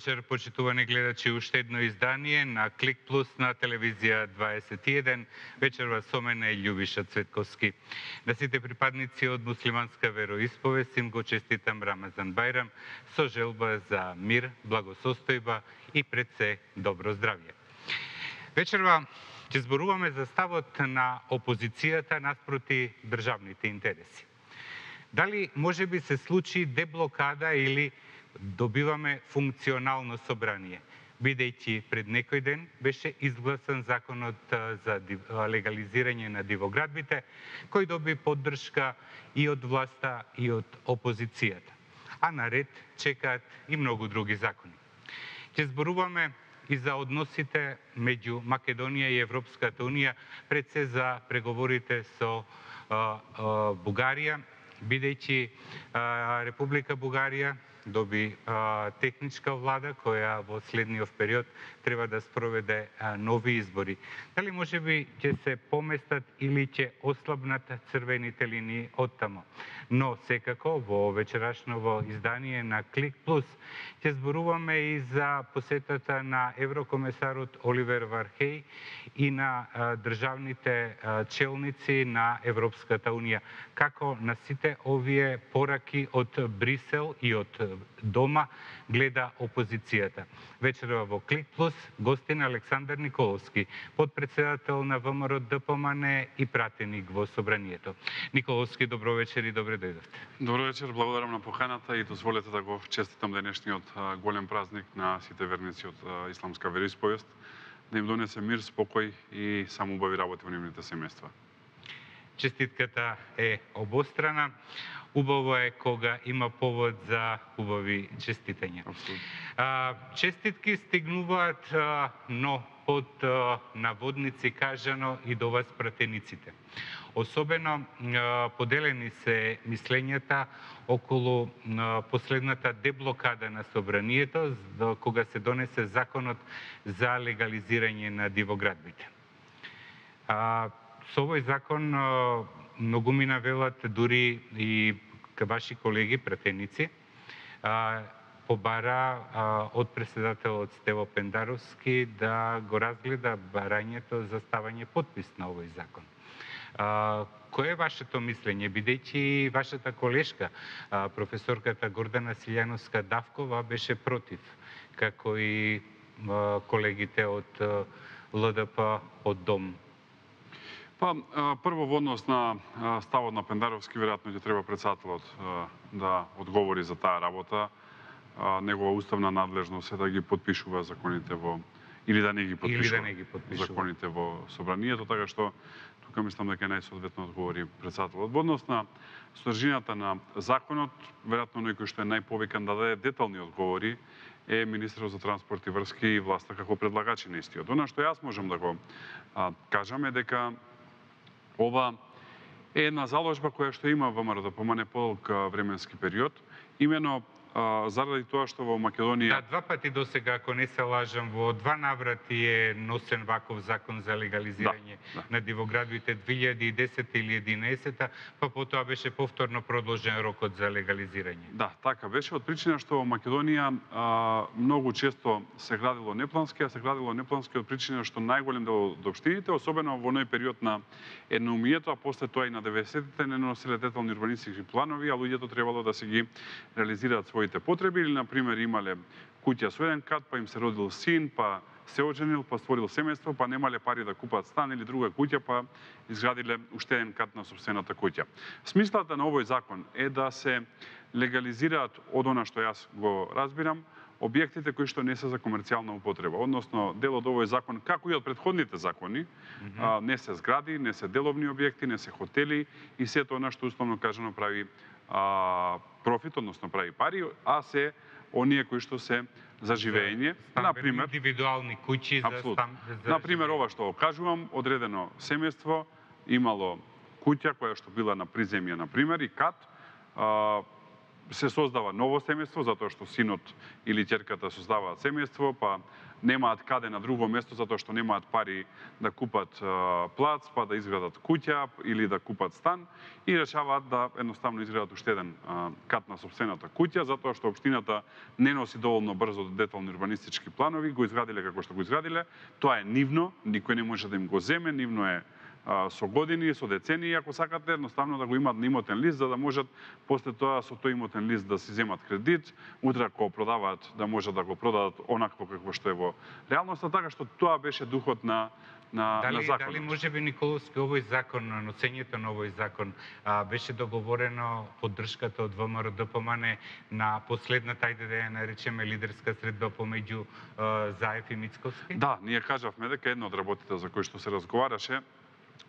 вечер, почитувани гледачи, уште едно издание на Клик Плюс на телевизија 21. Вечерва со мене Љубиша Цветковски. На сите припадници од муслиманска вероисповест им го честитам Рамазан Бајрам со желба за мир, благосостојба и пред се добро здравје. Вечерва ќе зборуваме за ставот на опозицијата наспроти државните интереси. Дали може би се случи деблокада или добиваме функционално собрание, бидејќи пред некој ден беше изгласан законот за легализирање на дивоградбите, кој доби поддршка и од власта и од опозицијата. А наред чекаат и многу други закони. Ќе зборуваме и за односите меѓу Македонија и Европската унија, пред се за преговорите со Бугарија, бидејќи Република Бугарија доби техничка влада која во следниот период треба да спроведе нови избори. Дали може би ќе се поместат или ќе ослабнат црвените линии од тамо. Но секако во вечерашново издание на Клик Плюс ќе зборуваме и за посетата на еврокомесарот Оливер Вархеј и на државните челници на Европската унија. Како на сите овие пораки од Брисел и од дома гледа опозицијата. Вечерва во Клик Плюс гостин Александар Николовски, подпредседател на ВМРО ДПМН и пратеник во собранието. Николовски, добро вечер и добре дојдовте. Добро вечер, благодарам на поканата и дозволете да го честитам денешниот голем празник на сите верници од исламска вероисповест, да им донесе мир, спокој и самоубави работи во нивните семејства. Честитката е обострана. Убаво е кога има повод за убави честитања. Честитки стигнуваат, но под наводници кажано и до вас пратениците. Особено поделени се мислењата околу последната деблокада на собранието, кога се донесе законот за легализирање на дивоградбите. Со овој закон многумина велат дури и ваши колеги пратеници побара од претседателот Стево Пендаровски да го разгледа барањето за ставање подпис на овој закон. Кој е вашето мислење, бидејќи вашата колешка, професорката Гордана Силјановска-Давкова, беше против, како и колегите од ЛДП од Дом? Прво во однос на ставот на Пендаровски, веројатно ќе треба претседателот да одговори за таа работа. Негова уставна надлежност е да ги подпишува законите во или да не ги подпишува законите во собранието, така што тука мислам дека најсоодветно одговори претседателот. Во однос на содржината на законот, веројатно некој што е најповикан да даде детални одговори е министерот за транспорт и врски и власта како предлагачи на истиот. Она што јас можам да го кажам е дека ова е една заложба која што има ВМРО ДПМН подолг временски период, имено заради тоа што во Македонија... Да, два пати досега, ако не се лажам, во два наврати е носен ваков закон за легализирање на дивоградбите 2010 или 2011, па потоа беше повторно продолжен рокот за легализирање. Да, така беше, од причина што во Македонија многу често се градило неплански, а се градило неплански од причина што најголем дел од општините, особено во оној период на едноумието, а после тоа и на 90-тите не носеле детални урбанистички планови, а луѓето требало да се ги реализираат своите потреби, или, например, имале куќа со еден кат, па им се родил син, па се оженил, па створил семејство, па немале пари да купат стан или друга куќа, па изградиле уште еден кат на сопствената куќа. Смислата на овој закон е да се легализираат, од она што јас го разбирам, објектите кои што не се за комерцијална употреба. Односно, дел од овој закон, како и од претходните закони, не се згради, не се деловни објекти, не се хотели и сето она што условно кажано прави профит, односно прави пари, а се оние кои што се за живење, например индивидуални куќи за стан. Например, ова што кажувам, одредено семејство имало куќа која што била на приземје, например, и кат, се создава ново семејство, затоа што синот или ќерката создаваат семејство, па немаат каде на друго место, затоа што немаат пари да купат плац, па да изградат куќа или да купат стан, и решаваат да едноставно изградат уште еден кат на сопствената куќа, затоа што општината не носи доволно брзо детални урбанистички планови, го изградиле како што го изградиле, тоа е нивно, никој не може да им го земе, нивно е со години, со децении, ако сакате, едноставно да го имаат на имотен лист, за да можат после тоа со тој имотен лист да си земат кредит, утре ако продаваат да можат да го продадат онакво какво што е во реалноста, така што тоа беше духот на законот. Дали можеби, Николовски, овој закон, носењето на овој закон беше договорено поддршката од ВМРО ДПМН на последната, ајде да ја наречеме, лидерска средба помеѓу Заев и Мицковски? Да, ние кажавме дека една од работите за кои што се разговараше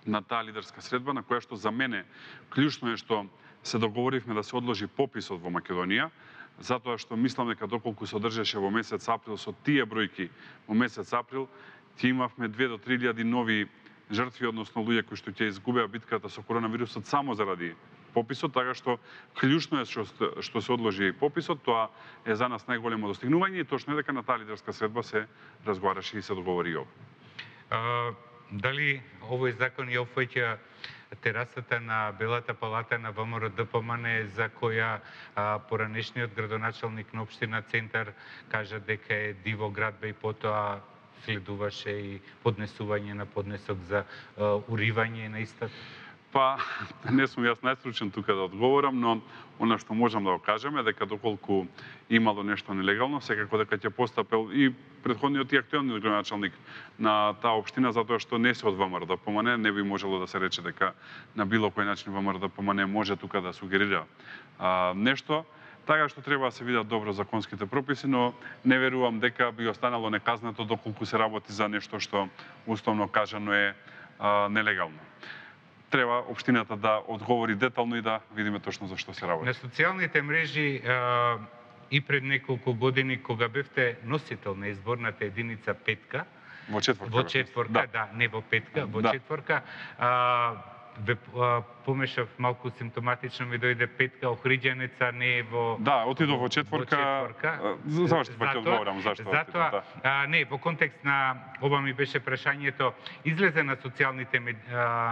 на таа лидерска средба, на која што за мене клучно е што се договоривме да се одложи пописот во Македонија, затоа што мислам дека доколку се одржаше во месец април со тие бројки во месец април, ќе имавме 2 до 3.000 нови жртви, односно луѓе кои што ќе изгубеа битката со коронавирусот само заради пописот, така што клучно е што се одложи пописот, тоа е за нас најголемо достигнување и точно е дека на таа лидерска средба се разговараше и се договори ова. Дали овој закон ја опфаќа терасата на Белата палата на ВМРО ДПМН, за која поранешниот градоначалник на општина Центар кажа дека е диво градба и потоа следуваше и поднесување на поднесок за уривање на истата? Па, не сум јас најстручен тука да одговорам, но она што можам да го кажеме дека доколку имало нешто нелегално, секако дека ќе постапел и претходниот и актуелниот градоначалник на таа општина, затоа што не се од ВМРО ДПМН, не би можело да се рече дека на било кој начин ВМРО ДПМН може тука да сугерира нешто. Така што треба да се видат добро законските прописи, но не верувам дека би останало неказнато доколку се работи за нешто што уставно кажано е нелегално. Треба општината да одговори детално и да видиме точно за што се работи. На социјалните мрежи и пред неколку години, кога бевте носител на изборната единица петка, во четворка, да, не во петка, во да. четворка, помешав малку симптоматично, ми дојде петка, Охриѓанеца не е во... Да, отидов во четворка. Зашто па ќе одговорам, зашто? Затоа, не, во контекст на ова ми беше прашањето, излезе на социјалните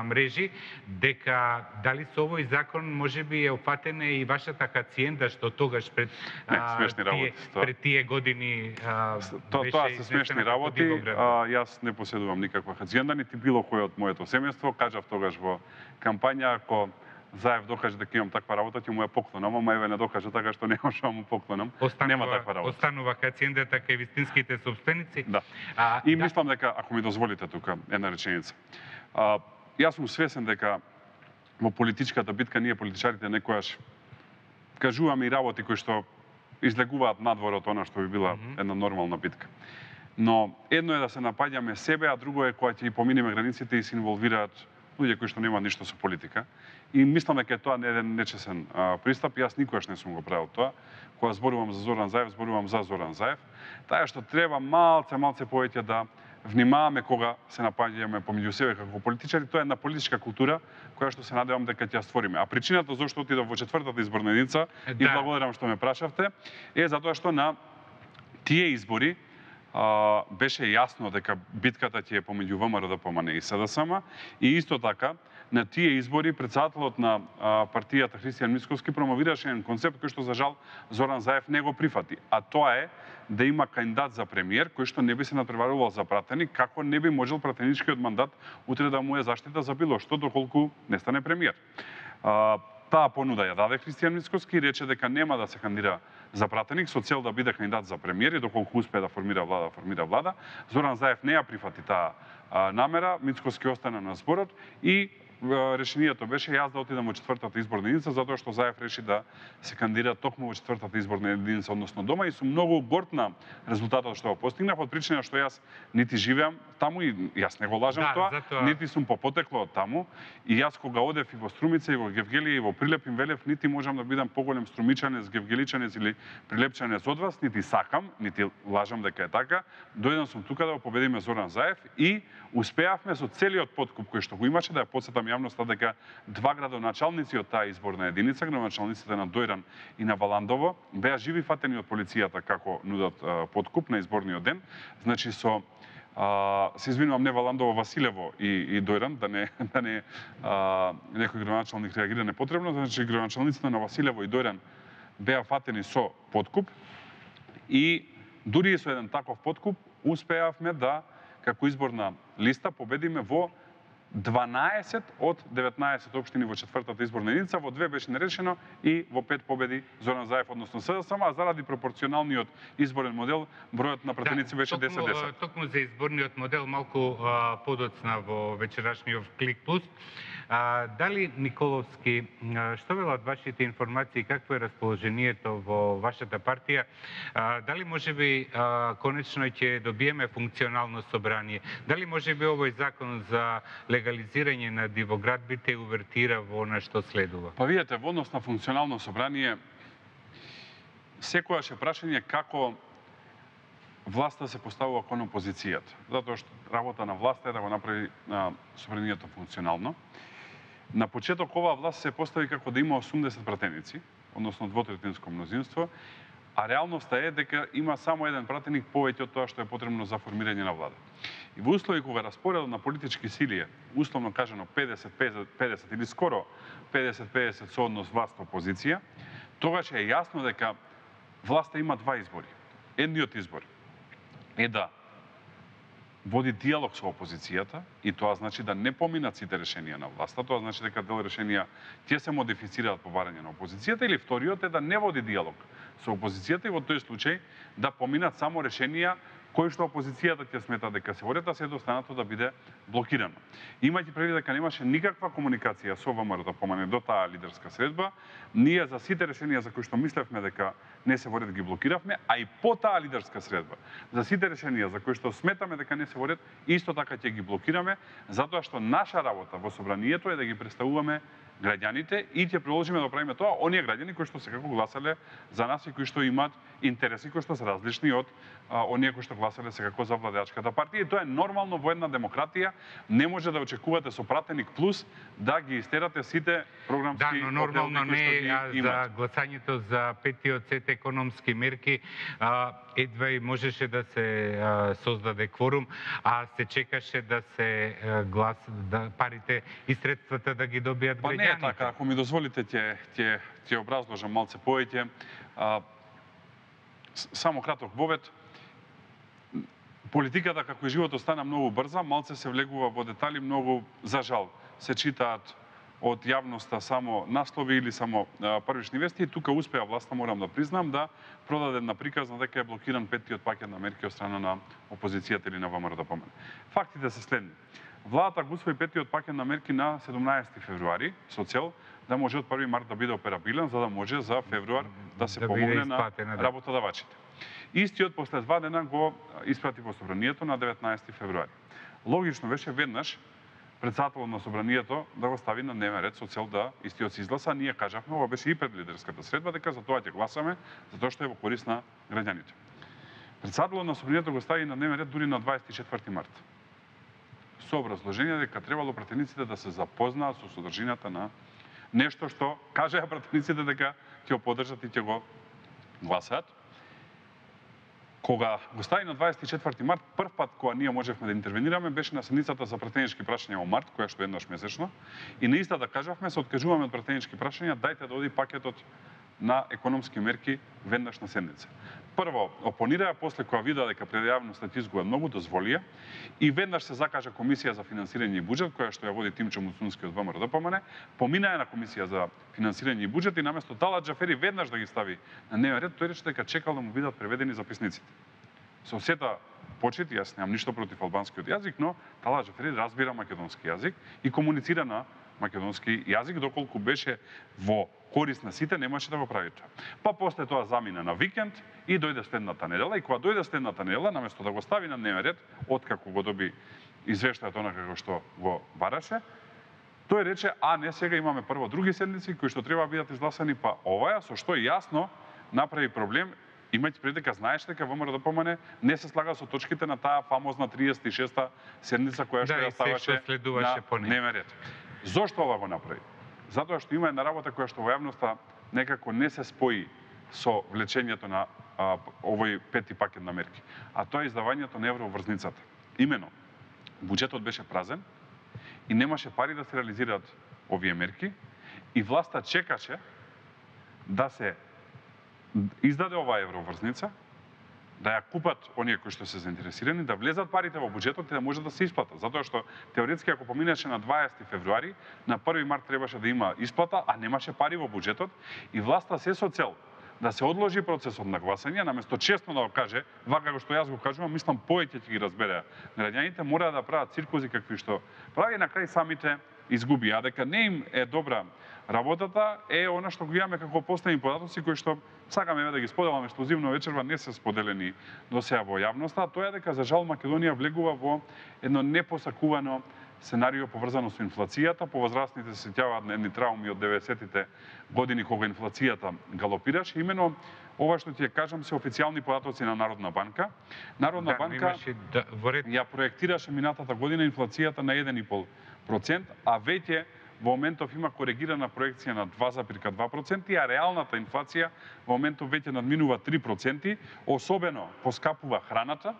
мрежи дека дали со овој закон можеби е опатена и вашата хациенда, што тогаш пред тие години Тоа се смешни работи. Јас не поседувам никаква хациенда, нити било кој од моето семејство. Кажав тогаш во кампања, ако Заев докаже дека имам таква работа, ќе му ја поклонам, ама еве не докаже, така што не можам му поклонам. Нема таква работа. Останува хациендата кај вистинските собственици. Да. И мислам дека, ако ми дозволите тука една реченица, јас сум свесен дека во политичката битка ние политичарите некојаш кажуваме и работи кои што излегуваат надвор од она што би била една нормална битка. Но едно е да се напаѓаме себе, а друго е кога ќе поминеме границите и се инволвираат луѓе кои што немаат ништо со политика. И мислам дека е тоа еден нечесен пристап. Јас никогаш не сум го правил тоа. Кога зборувам за Зоран Заев, зборувам за Зоран Заев. Така што треба малце повеќе да внимаваме кога се напаѓаме помеѓу себе како политичари. Тоа е една политичка култура која што се надевам дека ќе ја створиме. А причината зашто отидов во четвртата изборна единица, и благодарам што ме прашавте, е затоа што на тие избори беше јасно дека битката ќе е помеѓу ВМРО ДПМН и СДСМ, и исто така на тие избори председателот на партијата Христијан Мицковски промовираше еден концепт кој што за жал Зоран Заев не го прифати, а тоа е да има кандидат за премиер кој што не би се натпреварувал за пратеник, како не би можел пратеничкиот мандат утре да му е заштита за било што доколку не стане премиер. Таа понуда ја даде Христијан Мицковски и рече дека нема да се кандидира за пратеник со цел да биде кандидат за премиер и доколку успее да формира влада. Зоран Заев не ја прифати таа намера, Мицковски остана на зборот и решението беше јас да отидам во четвртата изборна единица, затоа што Заев реши да се кандидира токму во четвртата изборна единица, односно дома, и сум многу горд на резултатот што го постигнав, од причина што јас нити живеам таму и јас не го лажам тоа, нити сум по потекло од таму, и јас кога одев и во Струмица, и во Гевгелија, и во Прилеп, им велев, нити можам да бидам поголем струмичанец, гевгеличанец или прилепчанец од вас, нити сакам, нити лажам дека е така. Дојден сум тука да го победиме Зоран Заев и успеавме со целиот подкуп кој што го имаше, да ја потсетам јавноста дека два градоначалници од таа изборна единица, градоначалниците на Дојран и на Валандово, беа живи фатени од полицијата како нудат подкуп на изборниот ден. Значи се извинувам, не Валандово, Василево и Дојран, да не некој градоначалник реагира непотребно, значи градоначалниците на Василево и Дојран беа фатени со подкуп и дури и со еден таков подкуп успеавме да како изборна листа победиме во 12 од 19 општини во четвртата изборна единица, во 2 беше нерешено и во 5 победи Зоран Заев, односно СДСМ, а заради пропорционалниот изборен модел, бројот на пратеници беше 10-10. Токму за изборниот модел малку подоцна во вечерашниот Клик Плюс. Дали Николовски, што велат вашите информации, какво е расположението во вашата партија? Дали можеби конечно ќе добиеме функционално собрание? Дали можеби овој закон за легализирање на дивоградбите увертира во она што следува? Па видете, во однос на функционално собрание, секојаш е прашање како власта се поставува кон опозицијата. Затоа што работа на власта е да го направи собранието функционално. На почеток оваа власт се постави како да има 80 пратеници, односно двотретинско мнозинство, а реалноста е дека има само еден пратеник повеќе од тоа што е потребно за формирање на влада. И во услови кога распоредот на политички сили е, условно кажано 50-50 или скоро 50-50 со однос власт-опозиција, тогаш е јасно дека власта има два избори. Едниот избор е да води диалог со опозицијата и тоа значи да не поминат сите решенија на власта, тоа значи дека дел решенија ќе се модифицираат по барање на опозицијата, или вториот е да не води диалог со опозицијата и во тој случај да поминат само решенија кои што опозицијата ќе смета дека се водат, а се останато да биде блокирано. Имајќи предвид дека немаше никаква комуникација со ВМРО до таа лидерска средба, ние за сите решенија за кои што мислевме дека не се водат ги блокиравме, а и по таа лидерска средба за сите решенија за кои што сметаме дека не се водат, исто така ќе ги блокираме, затоа што наша работа во собранието е да ги представуваме граѓаните и ќе продолжиме да правиме тоа оние граѓани кои што секако гласале за нас и кои што имаат интереси кои што се различни од оние кои што гласале секако за владеачката партија. И тоа е нормално во една демократија. Не може да очекувате со пратеник плюс да ги истерате сите програмски оделни кои што ги имат. Да, но нормално не е за гласањето за петиот сет економски мерки. Едва и можеше да се создаде кворум, а се чекаше да се парите и средствата да ги добијат граѓаните. Па не е така, ако ми дозволите ќе образложам малце повеќе. Само краток вовед. Политиката како и животот стана многу брза, малце се влегува во детали, многу за жал се читаат од јавноста само наслови или само првични вести, и тука успеа власта, морам да признам, да продаде на приказна дека е блокиран петтиот пакет на мерки од страна на опозицијата или на ВМРО. Фактите се следни. Владата го усвои петтиот пакет на мерки на 17 февруари со цел да може од 1 март да биде операбилен, за да може за февруар да се помогне на работодавачите. Истиот после 2 дена го испрати во собранието на 19 февруари. Логично беше веднаш председателот на собранието да го стави на дневен ред со цел да истиот се изгласа. Ние кажавме, ова беше и пред лидерската средба, дека за тоа ќе гласаме, затоа што е во корист на граѓаните. Председателот на собранието го стави на дневен ред дури на 24 март. Со образложение дека требало пратениците да се запознаат со содржината на нешто што кажаа пратениците дека ќе го поддржат и ќе го гласаат. Кога го стави на 24 март, прв пат кога ние можевме да интервенираме беше на седницата за пратенички прашања во март, која што еднаш месечно, и наиста да кажавме, се откажуваме од пратенички прашања, дајте да оди пакетот на економски мерки веднаш на седница. Прво опонираа, после кога видеа дека пред јавноста изгуба многу, дозволија и веднаш се закажа комисија за финансирање и буџет, која што ја води Тимчо Муцунски од ВМРО, поминаа на комисија за финансирање и буџет и наместо Талат Џафери веднаш да ги стави на дневен ред, тој рече дека чекал да му бидат преведени записниците. Со сета почит, јас немам ништо против албанскиот јазик, но Талат Џафери разбира македонски јазик и комуницира на македонски јазик, доколку беше во корист на сите, немаше да го прави тоа. Па после тоа замина на викенд и дојде следната недела, и кога дојде следната недела, наместо да го стави на дневен ред, откако го доби извештајот онакако што го бараше, тој рече, а не, сега имаме прво други седници кои што треба да бидат изгласани, па оваа, со што јасно направи проблем, имајќи пред дека знаеш дека ВМРО не се слага со точките на таа фамозна 36-та седница која што ја ставаше на дневен ред. Зошто ова го направи? Затоа што има една работа која што во јавноста некако не се спои со влечењето на овој пети пакет на мерки, а тоа е издавањето на евроврзницата. Имено, буџетот беше празен и немаше пари да се реализираат овие мерки и власта чекаше да се издаде оваа евроврзница, да ја купат оние кои што се заинтересирани, да влезат парите во буџетот и да може да се исплата. Затоа што теоретски ако поминеше на 20 февруари, на 1 март требаше да има исплата, а немаше пари во буџетот и власта се со цел да се одложи процесот на гласање, наместо честно да го каже, вака како што јас го кажувам, мислам повеќе ќе ги разбереа граѓаните, мора да прават циркузи какви што прави, на крај самите изгуби. А дека не им е добра работата, е она што го имаме како последни податоци кои што сакаме да ги споделаме ексклузивно вечерва, не се споделени до сега во јавноста, тоа е дека за жал Македонија влегува во едно непосакувано сценарио поврзано со инфлацијата. Повозрастните се сеќаваат на едни трауми од 90-тите години кога инфлацијата галопираше. Имено ова што ќе кажам се официјални податоци на Народна банка. Народна банка ја проектираше минатата година инфлацијата на 1,5%, а веќе во моментов има коригирана проекција на 2,2%, а реалната инфлација во моментов веќе надминува 3%, особено поскапува храната,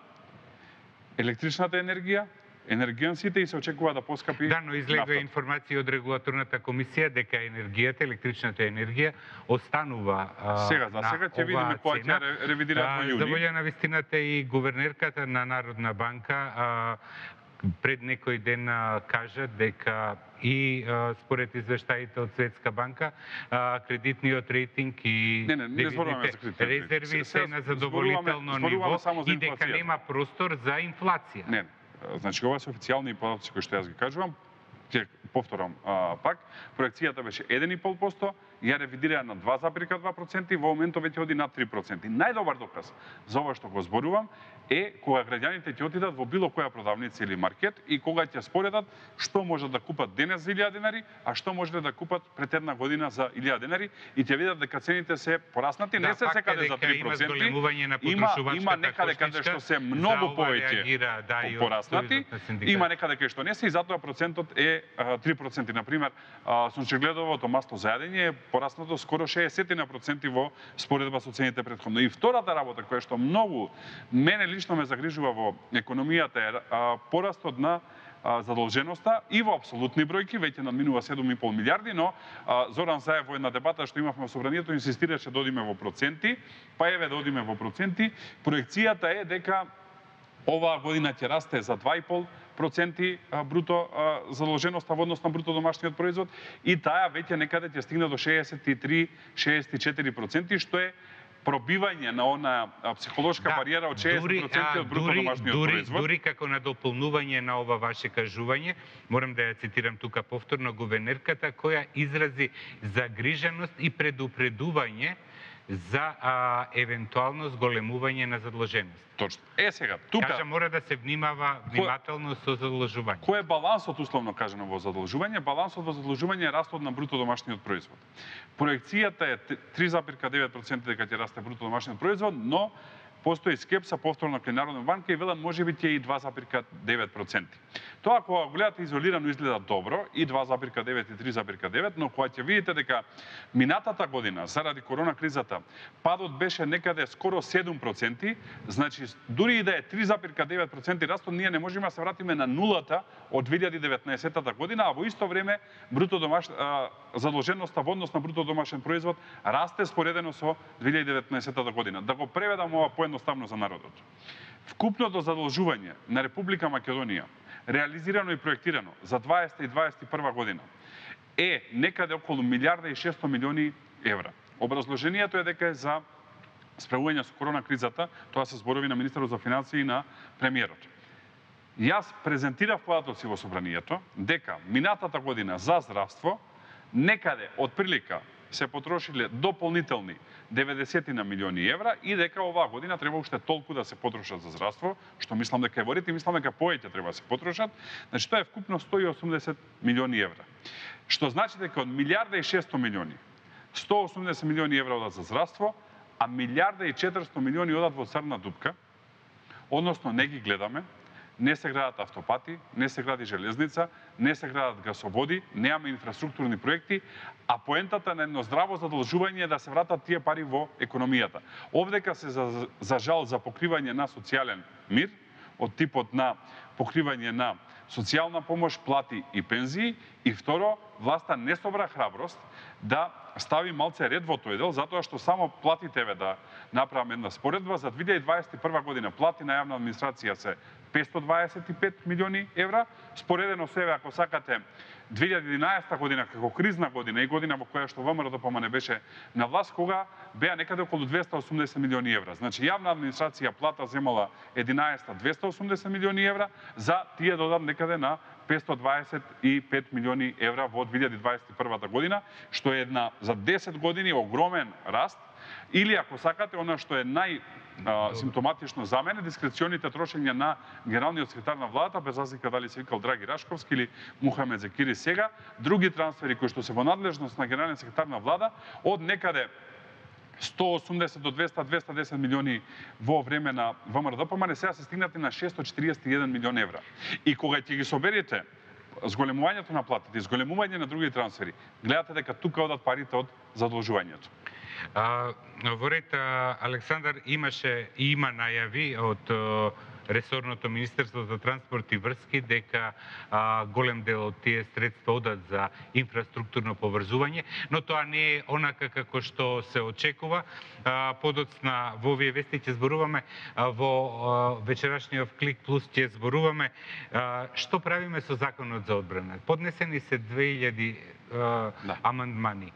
електричната енергија, енергијансите и се очекува да поскапи Да, но излегува информација од регулаторната комисија дека енергијата, електричната енергија останува сега ќе видиме кога ќе ревидираат во јуни. За волја на вистината и гувернерката на Народна банка пред некој ден кажа дека и според извештаите од Светска банка кредитниот рейтинг и девизните резерви се на задоволително ниво и дека нема простор за инфлација. Не, значи ова се официјални податоци кои што јас ги кажувам. Ќе повторам пак, проекцијата беше 1,5%, ја ревидираа на 2,2% и во моментот веќе оди на 3%. Најдобар доказ за ова што го зборувам е кога граѓаните ќе отидат во било која продавница или маркет и кога ќе споредат што можат да купат денес за 1000 денари, а што можеле да купат пред една година за 1000 денари и ќе видат дека цените се пораснати, не се секаде за 3%. Има некаде каде што се многу повеќе пораснати, има некаде каде што не се и затоа процентот е 3%. Например, сончегледовото масло за јадење е пораснато скоро 60% во споредба со цените претходно. И втората работа која што многу мене лично ме загрижува во економијата е порастот на задолженоста и во апсолутни бројки, веќе надминува 7,5 милиарди, но Зоран Заев во една дебата што имавме во собранието инсистираше да одиме во проценти, па еве да одиме во проценти. Проекцијата е дека оваа година ќе расте за 2,5% бруто задолженоста во однос на бруто домашниот производ и таа веќе некаде ќе стигне до 63-64%, што е пробивање на она психолошка бариера од 60% од бруто домашниот производ. Дури како на дополнување на ова ваше кажување, морам да ја цитирам тука повторно гувернерката која изрази загриженост и предупредување за евентуално зголемување на задолженост. Точно. Сега, тука кажа мора да се внимателно со задолжување. Кој е балансот условно кажано во задолжување? Балансот во задолжување е растот на бруто домашниот производ. Проекцијата е 3,9% дека ќе расте бруто домашниот производ, но постои скепса повторно кај Народна банка и велат можеби ќе и 2,9%. Тоа кога го гледате изолирано изгледа добро и 2,9 и 3,9, но кога ќе видите дека минатата година заради корона кризата падот беше некаде скоро 7%, значи дури и да е 3,9% растот, ние не можеме да се вратиме на нулата од 2019 година, а во исто време задолженоста во однос на бруто домашен производ расте споредено со 2019 година. Да го преведам ова поедноставно за народот. Вкупното задолжување на Република Македонија, реализирано и проектирано за 20 и 21 година, е некаде околу 1,6 милиарди евра. Образложението е дека е за справување со корона кризата, тоа се зборови на министерот за финансии и на премиерот. Јас презентирав податоци во собранието дека минатата година за здравство некаде од прилика се потрошиле дополнителни 90 на милиони евра и дека оваа година треба уште толку да се потрошат за здравство, што мислам дека е во ред и мислам дека повеќе треба да се потрошат. Значи тоа е вкупно 180 милиони евра. Што значи дека од 1,6 милиарди 180 милиони евра одат за здравство, а 1,4 милиарди одат во црна дупка, односно не ги гледаме, не се градат автопати, не се гради железница, не се градат гасоводи, немаме инфраструктурни проекти, а поентата на едно здраво задолжување е да се вратат тие пари во економијата. Овдека се за жал за покривање на социјален мир, од типот на покривање на социјална помош, плати и пензии, и второ, власта не собра храброст да стави малце ред во тој дел, затоа што само платите да направам една споредба, за 2021 година плати на јавна администрација се 525 милиони евра, споредено себе, ако сакате, 2011 година како кризна година и година во која што ВМРО не беше на власт, кога беа некаде околу 280 милиони евра. Значи, јавна администрација плата земала 11 280 милиони евра, за тие додам некаде на 525 милиони евра во 2021 година, што е една за 10 години огромен раст, или ако сакате, она што е симптоматично за мене, дискреционите трошења на генералниот секретар на владата, без разлика дали се викал Драги Рашковски или Мухамед Зекири сега, други трансфери кои што се во надлежност на генералниот секретар на влада, од некаде 180 до 200, 210 милиони во време на ВМРО-ДПМН, сега се стигнати на 641 милион евра. И кога ќе ги соберете зголемувањето на платите и зголемување на други трансфери, гледате дека тука одат парите од задолжувањето. Во ред, Александар, имаше и има најави од ресорното Министерство за транспорт и врски дека голем дел од тие средства одат за инфраструктурно поврзување, но тоа не е онака како што се очекува. Подоцна во овие вести ќе зборуваме, во вечерашниот Клик Плюс ќе зборуваме што правиме со законот за одбрана. Поднесени се 2000 амандмани.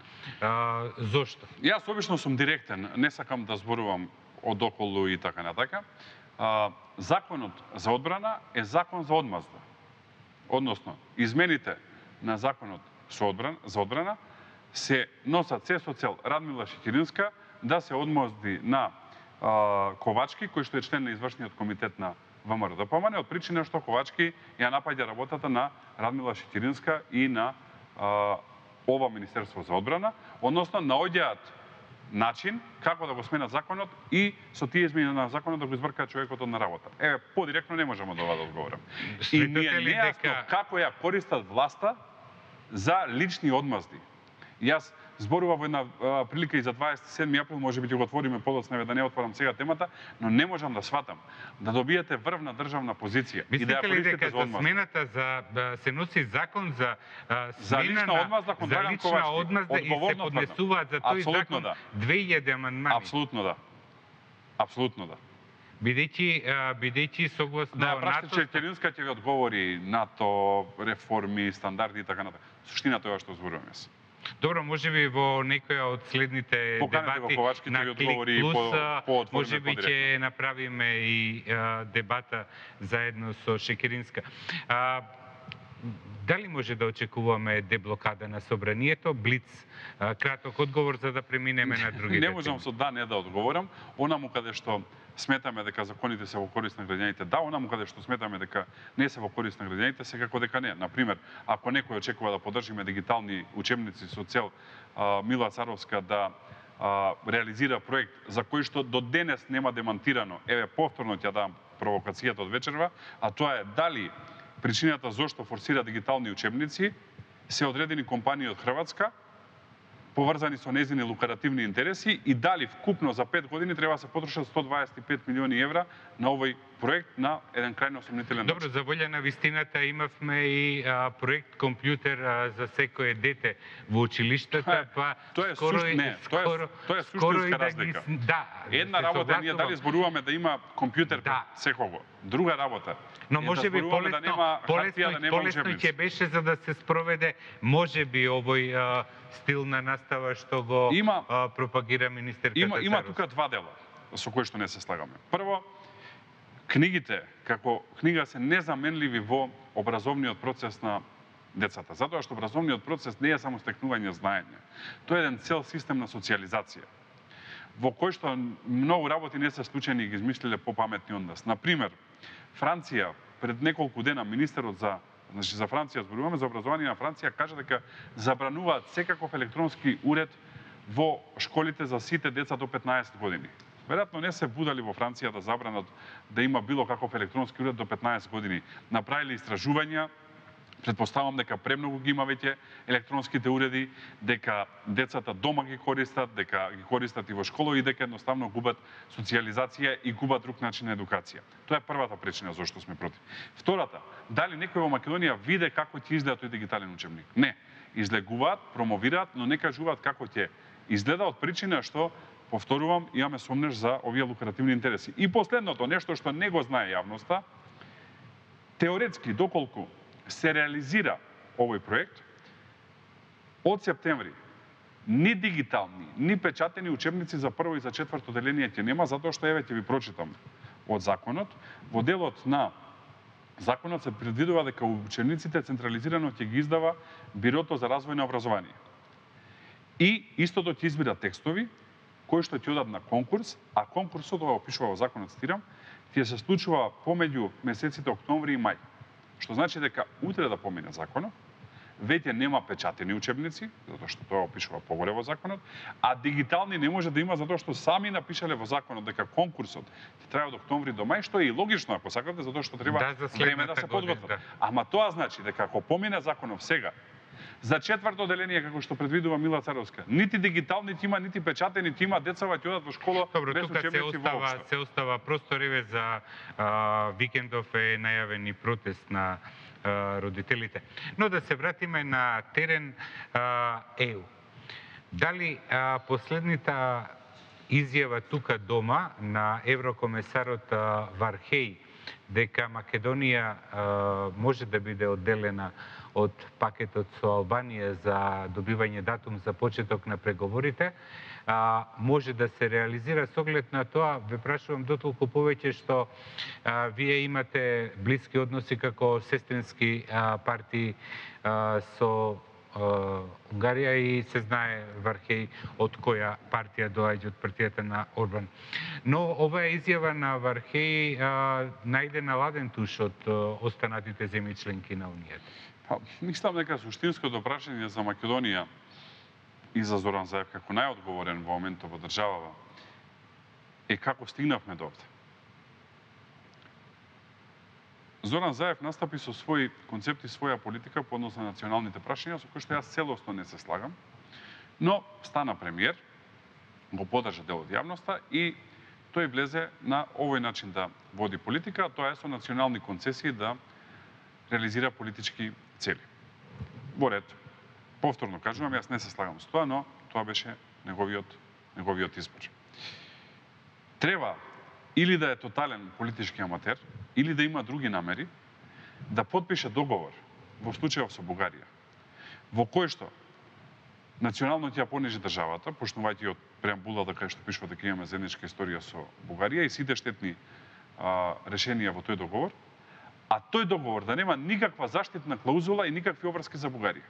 Зошто? Јас обично сум директен, не сакам да зборувам одоколу и така натака. Законот за одбрана е закон за одмазда. Односно, измените на законот за одбрана се носат се со цел Радмила Шекеринска да се одмазди на Ковачки, кој што е член на извршниот комитет на ВМРО-ДПМН, од причина што Ковачки ја напаѓа работата на Радмила Шекеринска и на ова Министерство за одбрана, односно наоѓаат начин како да го сменат законот и со тие измени на законот да го избркаат човекот на работа. Еве, подиректно не можам од ова да одговорам. И ми е нејасно како ја користат власта за лични одмазди. Јас зборував во една прилика и за 27 април, може би ќе го отвориме подоцна, да не отворам сега темата, но не можам да сватам да добиете врвна државна позиција и да ја користите за одмазда. Смената за се носи закон за лична одмазда кон Драган Ковачки, и се поднесуваат за тој закон 2000 амандмани. Апсолутно да. Апсолутно да. Бидејќи согласно НАТО... Да, Шекеринска ќе ви одговори НАТО, реформи, стандарди и така натаму. Суштината е ова што зборувам јас. Добро, може би во некоја од следните дебати на Клик Плюс, може би ќе направиме и дебата заедно со Шекеринска. Дали може да очекуваме деблокада на собранието? Блиц, краток одговор за да преминеме на другите. Не можам со да не да одговорам. Онаму каде што сметаме дека законите се во корист на граѓаните, да, онаму каде што сметаме дека не се во корист на граѓаните, секако дека не. Например, ако некој очекува да поддржиме дигитални учебници со цел Мила Царовска да реализира проект за кој што до денес нема демантирано, еве повторно ќе дам провокацијата од вечерва, а тоа е дали причината зошто форсира дигитални учебници се одредени компании од Хрватска, поврзани со незини лукративни интереси, и дали вкупно за 5 години треба да се потрошат 125 милиони евра на овој проект на еден крајно сомнителен начин. Добро, за волја на вистината имавме и проект компјутер за секое дете во училиштата, па тоа е суштинска разлика. Една работа ние дали зборуваме да има компјутер пред секого. Друга работа. Но може би полесно ќе беше за да се спроведе може би овој стил на настава што го пропагира министерката Царовска. Има тука два дела со кои што не се слагаме. Прво, книгите како книга се незаменливи во образовниот процес на децата, затоа што образовниот процес не е само стекнување знаење. Тоа е еден цел систем на социјализација, во кој што многу работи не се случајни и ги измислиле попаметни од нас. Например, Франција пред неколку дена министерот за Франција, зборуваме за образование на Франција, кажа дека забрануваат секаков електронски уред во школите за сите деца до 15 години. Веројатно не се будали во Франција да забранат да има било каков електронски уред до 15 години. Направиле истражувања, претпоставам дека премногу ги има веќе електронските уреди, дека децата дома ги користат, дека ги користат и во школа и дека едноставно губат социјализација и губат друг начин на едукација. Тоа е првата причина зашто сме против. Втората, дали некој во Македонија виде како ќе изгледа тој дигитален учебник? Не. Излегуваат, промовираат, но не кажуваат како ќе изгледа од причина што, повторувам, имаме сомнеш за овие лукративни интереси. И последното, нешто што не го знае јавноста, теоретски, доколку се реализира овој проект, од септември ни дигитални, ни печатени учебници за прво и за четврто деление ќе нема, затоа што, еве, ќе ви прочитам од законот. Во делот на законот се предвидува дека учебниците централизирано ќе ги издава Бирото за развој на образование. И истото ќе избира текстови кои што ќе одат на конкурс, а конкурсот, ова опишува во законот, цитирам, ќе се случува помеѓу месеците октомври и мај. Што значи дека утре да помине законот, веќе нема печатени учебници, затоа што тоа опишува погоре во законот, а дигитални не може да има затоа што сами напишале во законот дека конкурсот ќе трае од октомври до мај, што е и логично ако сакате, затоа што треба време да се подготват. Ама тоа значи дека ако помине законот сега, за четврто деление, како што предвидува Мила Царовска, нити дигитални има, нити печатени има, децава ќе одат во школа без учебници воопшто. Се остава простор, еве, за викендов е најавен и протест на родителите. Но да се вратиме на терен ЕУ. Дали последната изјава тука дома на еврокомесарот Вархеј дека Македонија може да биде одделена од пакетот со Албанија за добивање датум за почеток на преговорите, може да се реализира со оглед на тоа, ве прашувам дотолку повеќе што вие имате блиски односи како сестрински партии со Унгарија и се знае Вархеј од која партија доаѓа, од партијата на Орбан. Но оваа изјава на Вархеј најде наладен туш од останатите земји членки на Унијата. Мислам дека суштинското прашање за Македонија и за Зоран Заев како најодговорен во моментот во државава е како стигнавме до овде. Зоран Заев настапи со своји концепти, своја политика по однос на националните прашања, со кои што јас целосно не се слагам, но стана премиер, го подржа дел од јавноста и тој влезе на овој начин да води политика, тоа е со национални концесии да реализира политички цели. Во ред, повторно кажувам, јас не се слагам со тоа, но тоа беше неговиот избор. Треба или да е тотален политички аматер, или да има други намери, да подпише договор во случајов со Бугарија, во кој што национално ќе ја понижи државата, почнувајќи од преамбулата кај што пишува дека имаме заедничка историја со Бугарија и сите штетни решенија во тој договор, а тој договор да нема никаква заштитна клаузула и никакви обврски за Бугарија.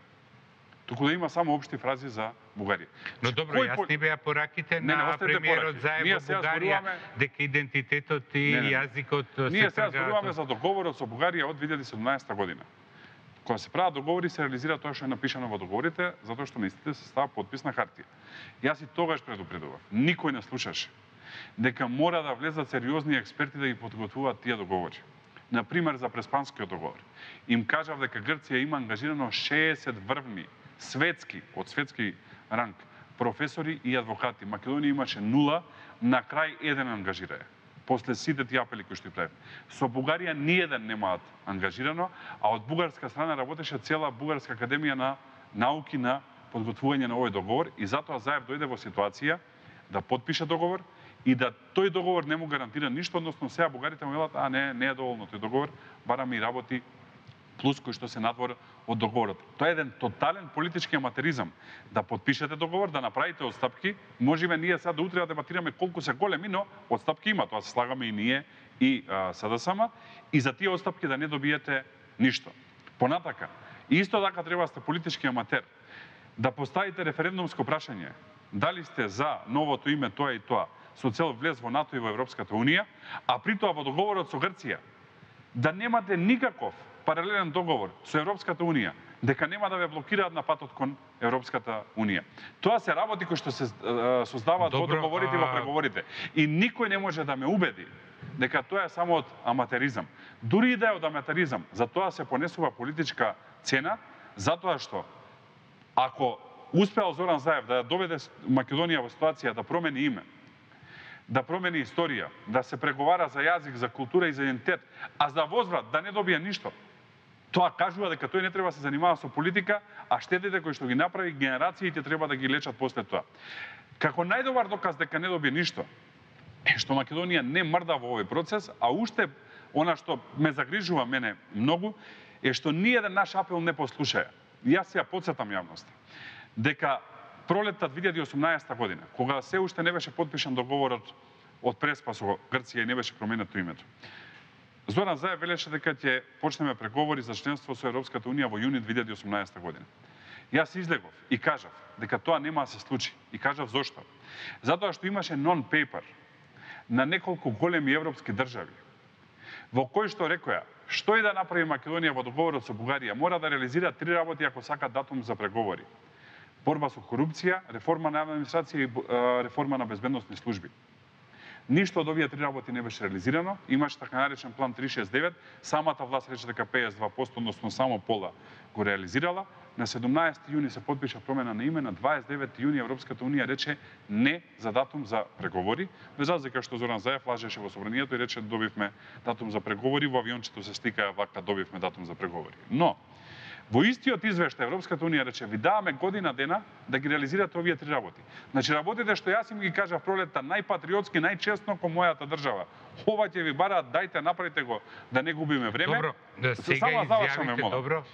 Туку да има само општи фрази за Бугарија. Но добро, јасни беа пораките на премиерот Заев во Бугарија, дека идентитетот и јазикот се Ние сега зборуваме за договорот со Бугарија од 2017 година. Кога се прават договори, се реализира тоа што е напишано во договорите, затоа што на истите се става подпис на хартија. Јас и тогаш предупредував, никој не слушаше, дека мора да влезат сериозни експерти да ги подготвуваат тие договори. Например, за Преспанскиот договор. Им кажав дека Грција има ангажирано 60 врвни светски, од светски ранг, професори и адвокати. Македонија имаше 0, на крај еден ангажирае. После сите тие апели кои што ги правим. Со Бугарија ниеден немаат ангажирано, а од бугарска страна работеше цела Бугарска академија на науки на подготвување на овој договор и затоа Заев дојде во ситуација да подпише договор и да тој договор не му гарантира ништо, односно сега бугарите му велат, не е доволно тој договор, бараме и работи плюс кои што се надвор од договорот. Тоа е еден тотален политички аматеризам. Да подпишете договор, да направите отстапки, можеме ние сега до утре да дебатираме колку се големи, но отстапки има, тоа се слагаме и ние и СДСМ, и за тие отстапки да не добиете ништо. Понатака, и исто така треба да сте политички аматер, да поставите референдумско прашање, дали сте за новото име тоа и тоа, со цел влез во НАТО и во Европската Унија, а при тоа во договорот со Грција, да немате никаков паралелен договор со Европската Унија, дека нема да ве блокираат на патот кон Европската Унија. Тоа се работи кои што се создаваат во договорите и во преговорите. И никој не може да ме убеди дека тоа е само од аматеризам. Дури и да е од аматеризам, за тоа се понесува политичка цена, затоа што ако успеал Зоран Заев да доведе Македонија во ситуација да промени име, да промени историја, да се преговара за јазик, за култура и за идентитет, а за возврат да не добија ништо, тоа кажува дека тој не треба да се занимава со политика, а штетите кои што ги направи генерациите треба да ги лечат после тоа. Како најдобар доказ дека не добија ништо, е што Македонија не мрда во овој процес, а уште она што ме загрижува мене многу, е што ниеден наш апел не послушаја. Јас ја потсетам јавноста дека пролетта 2018 година, кога се уште не беше потпишан договорот од Преспа со Грција и не беше променето името, Зоран Заев велеше дека ќе почнеме преговори за членство со Европската Унија во јуни 2018 година. Јас излегов и кажав дека тоа нема да се случи. И кажав зошто. Затоа што имаше нон-пейпер на неколку големи европски држави, во кој што рекоја, што и да направи Македонија во договорот со Бугарија, мора да реализира 3 работи ако сака датум за преговори. Борба со корупција, реформа на администрација и реформа на безбедносни служби. Ништо од овие 3 работи не беше реализирано, имаше така наречен план 369, самата власт рече дека 52%, односно само пола го реализирала. На 17 јуни се потпиша промена на име, на 29 јуни Европската Унија рече не за датум за преговори, без разлика што Зоран Заев лажеше во собранието и рече добивме датум за преговори, во авиончето се сликаа вака добивме датум за преговори. Но во истиот извештај Европската Унија рече ви даваме година дена да ги реализирате овие 3 работи. Значи работите што јас им ги кажав пролетта најпатриотски, најчестно кон мојата држава. Ова ќе ви бараат, дајте направите го да не губиме време. Добро, сега изјавите, добро.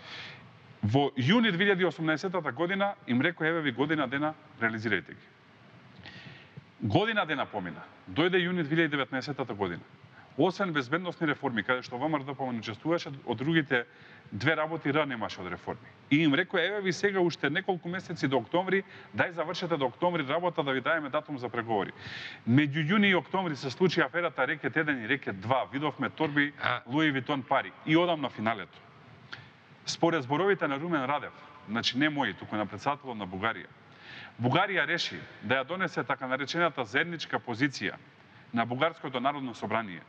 Во јуни 2018 година им рекој еве ви година дена реализирајте ги. Година дена помина. Дојде јуни 2019 година. Освен безбедносни реформи, каде што ВМРО не учествуваше, од другите 2 работи немаше од реформи. И им рекој еве ви сега уште неколку месеци до октомври, дај завршете до октомври работа да ви даеме датум за преговори. Меѓу јуни и октомври се случи аферата Рекет 1 и Рекет 2. Видовме торби Луи Витон пари и одам на финалето. Според зборовите на Румен Радев, значи не мои, туку на претседателот на Бугарија, Бугарија реши да ја донесе така наречената заедничка позиција на Бугарското народно собрание,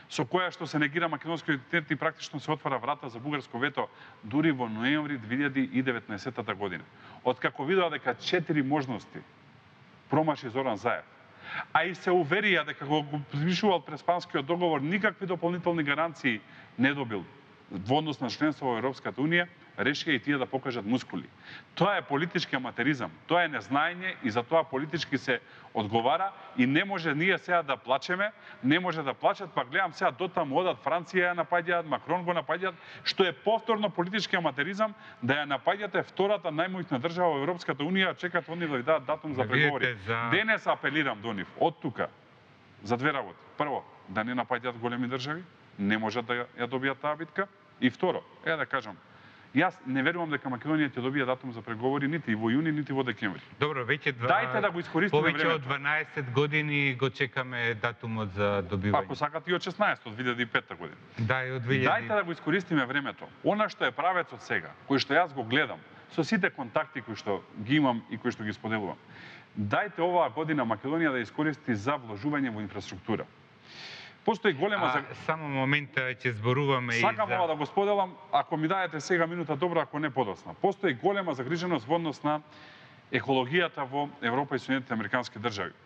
со која што се негира македонскиот идентитет и практично се отвара врата за бугарско вето дури во ноември 2019 година. Откако видоа дека 4 можности промаши Зоран Заев, а и се уверија дека го подпишувал Преспанскиот договор, никакви дополнителни гаранции не добил во однос на членство во Европската Унија, решија и тие да покажат мускули. Тоа е политички аматеризам, тоа е незнаење и за тоа политички се одговара и не може ние сега да плачеме, не може да плачат, па гледам сега дотаму одат Франција ја напаѓаат, Макрон го напаѓаат, што е повторно политички аматеризам да ја напаѓате втората најмоćна држава во Европската Унија, чекат они да ви дадат датум за преговори. Денес апелирам до нив, од тука, за 2 работи. Прво, да не напаѓаат големи држави, не можат да ја добијат таа битка. И второ, да кажам, јас не верувам дека Македонија ќе добие датум за преговори нити во јуни, нити во декември. Добро, веќе Дајте да го искористиме времето. Повеќе од 12 години го чекаме датумот за добивање. Ако сакате и од 16 од 2005 година. Да, и од 2000. Дајте да го искористиме времето. Она што е правецот сега, кој што јас го гледам, со сите контакти кои што ги имам и кои што ги споделувам. Дајте оваа година Македонија да искористи за вложување во инфраструктура. Постои голема само момента ќе зборуваме Сакам ова да го споделам, ако ми даете сега минута добро, ако не подоцна. Постои голема загриженост во однос на екологијата во Европа и Соединетите Американски држави.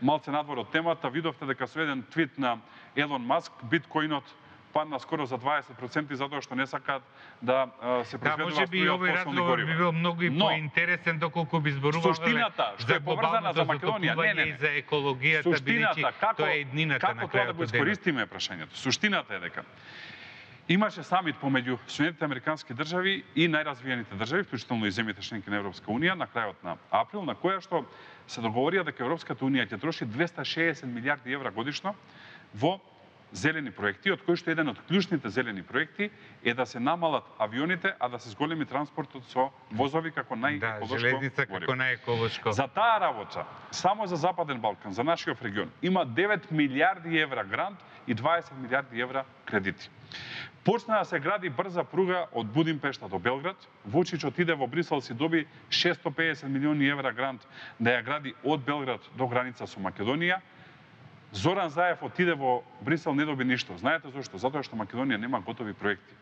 Малце надвор од темата, видовте дека со еден твит на Елон Маск биткоинот падна скоро за 20% затоа што не сакаат да се произведува струја од фосилни горива. Би бил многу и поинтересен доколку би зборувале суштината што е поврзана за Македонија, не, за екологијата, бидејќи тоа е еднината на крајот. Како тоа да го искористиме прашањето? Суштината е дека имаше самит помеѓу Соединетите Американски држави и најразвиените држави, вклучително и земјите членки на Европска Унија, на крајот на април, на која што се договорија дека Европската Унија ќе троши 260 милиарди евра годишно во зелени проекти, од кои што еден од клучните зелени проекти е да се намалат авионите, а да се зголеми транспортот со возови како Да, најеколошко железница гориво. како најеколошко. За таа работа, само за Западен Балкан, за нашиот регион, има 9 милиарди евра грант и 20 милиарди евра кредити. Почна да се гради брза пруга од Будимпешта до Белград. Вучич отиде во Брисел, си доби 650 милиони евра грант да ја гради од Белград до граница со Македонија. Зоран Заев отиде во Брисел, не доби ништо. Знаете зошто? Затоа што Македонија нема готови проекти.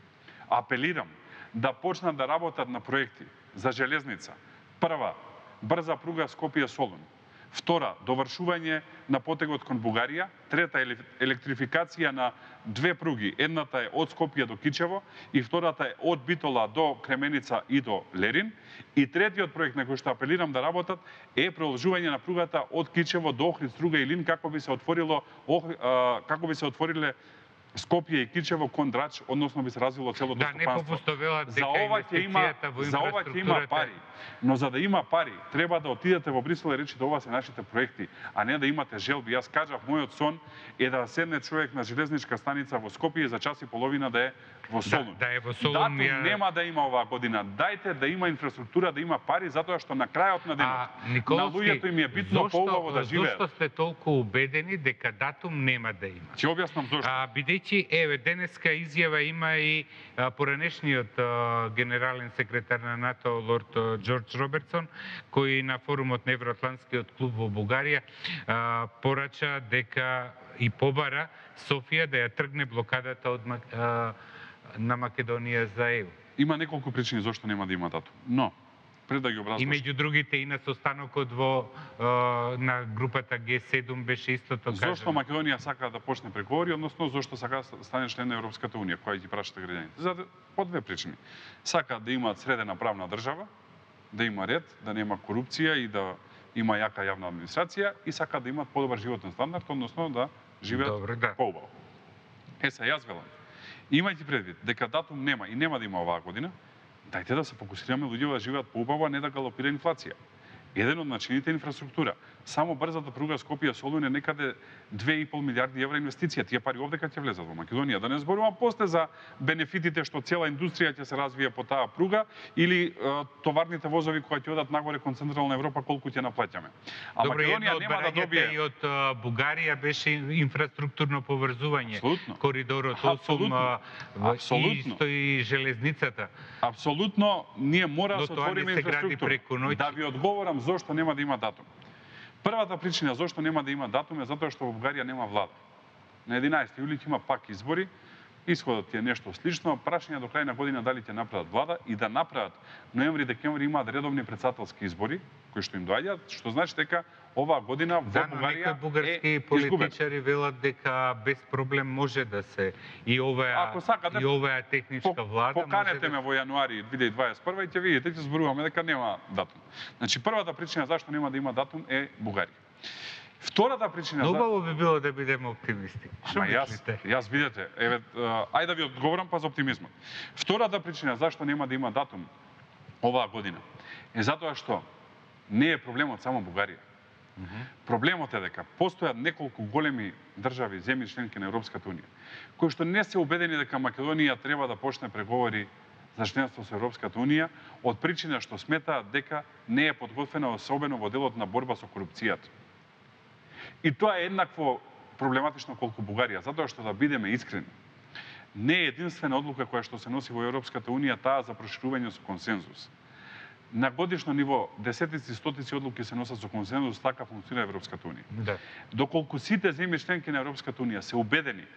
Апелирам да почнат да работат на проекти за железница. Прва, брза пруга Скопје-Солун. Втора, довршување на потегот кон Бугарија. Трета, електрификација на две пруги. Едната е од Скопје до Кичево и втората е од Битола до Кременица и до Лерин. И третиот проект на кој што апелирам да работат е продолжување на пругата од Кичево до Охрид, Струга и Илин како би се отвориле Скопје и Кичево кон Драч, односно би се развило целото стопанство. Да, не попоставуваат дека инвестицијата во за ова ќе има пари. Но за да има пари, треба да отидете во Брисел и речите ова се нашите проекти, а не да имате желби. Јас кажав, мојот сон е да седне човек на железничка станица во Скопје и за час и половина да е во Солун. Да е во Солун. Датум нема да има оваа година. Дајте да има инфраструктура, да има пари, затоа што на крајот на денот на луѓето им е битно поубаво да живеат. Зошто сте толку убедени дека датум нема да има? Ќе објаснам зошто. Бидејќи денеска изјава има и поранешниот генерален секретар на НАТО лорд Џорџ Робертсон, кој на форумот на Евроатлантскиот клуб во Бугарија порача дека и побара Софија да ја тргне блокадата од на Македонија за ЕУ. Има неколку причини зошто нема да има датум. Но пред да ги образлошам. И меѓу другите и на состанокот во на групата Г7 беше истото кажано. Зошто Македонија сака да почне преговори, односно зошто сака да стане член на Европската унија, која ги прашате граѓаните? За по две причини. Сака да имаат средена правна држава, да има ред, да нема корупција и да има јака јавна администрација и сака да имаат подобар животен стандард, односно да живеат поубаво. Се јас велам. Имајќи предвид дека датум нема и нема да има оваа година, дајте да се фокусираме луѓето да живеат поубаво, а не да галопира инфлација. Еден од начините е инфраструктура. Само брзата пруга Скопје-Солун е некаде 2,5 милиарди евра инвестиција. Тие пари овдека ќе влезат во Македонија. Да не зборувам после за бенефитите што цела индустрија ќе се развие по таа пруга или товарните возови кои ќе одат нагоре кон Централна Европа колку ќе наплаќаме. А добре, Македонија нема да добие. И од Бугарија беше инфраструктурно поврзување. Апсолутно. Коридорот 8 исто и железницата. Апсолутно, ние мора да се отвориме инфраструктура. Да ви одговорам зошто нема да има датум. Првата причина зошто нема да има датум е затоа што во Бугарија нема влада. На 11 јули ќе има пак избори, исходот е нешто слично, прашање до крај на година дали ќе направат влада и да направат ноември-декември имаат редовни претседателски избори кои што им доаѓаат, што значи дека оваа година во Бугарија некои бугарски политичари велат дека без проблем може да се и оваа техничка влада. Поканете ме во јануари 2021 и ќе видите, ќе зборуваме дека нема датум. Значи првата причина зашто нема да има датум е Бугарија. Втората причина Убаво би било да бидеме оптимисти. Што мислите? Јас видете, ајде да ви одговорам па за оптимизмот. Втората причина зашто нема да има датум оваа година е затоа што не е проблемот само Бугарија. Проблемот е дека постојат неколку големи држави, земји членки на Европската унија, кои што не се убедени дека Македонија треба да почне преговори за членство со Европската унија, од причина што сметаат дека не е подготвена особено во делот на борба со корупцијата. И тоа е еднакво проблематично колку Бугарија, затоа што да бидеме искрени, не е единствена одлука која што се носи во Европската унија таа за проширување со консензус. На годишно ниво десетици, стотици одлуки се носат со консензус, така функционира Европската унија. Да. Доколку сите земји членки на Европската унија се убедени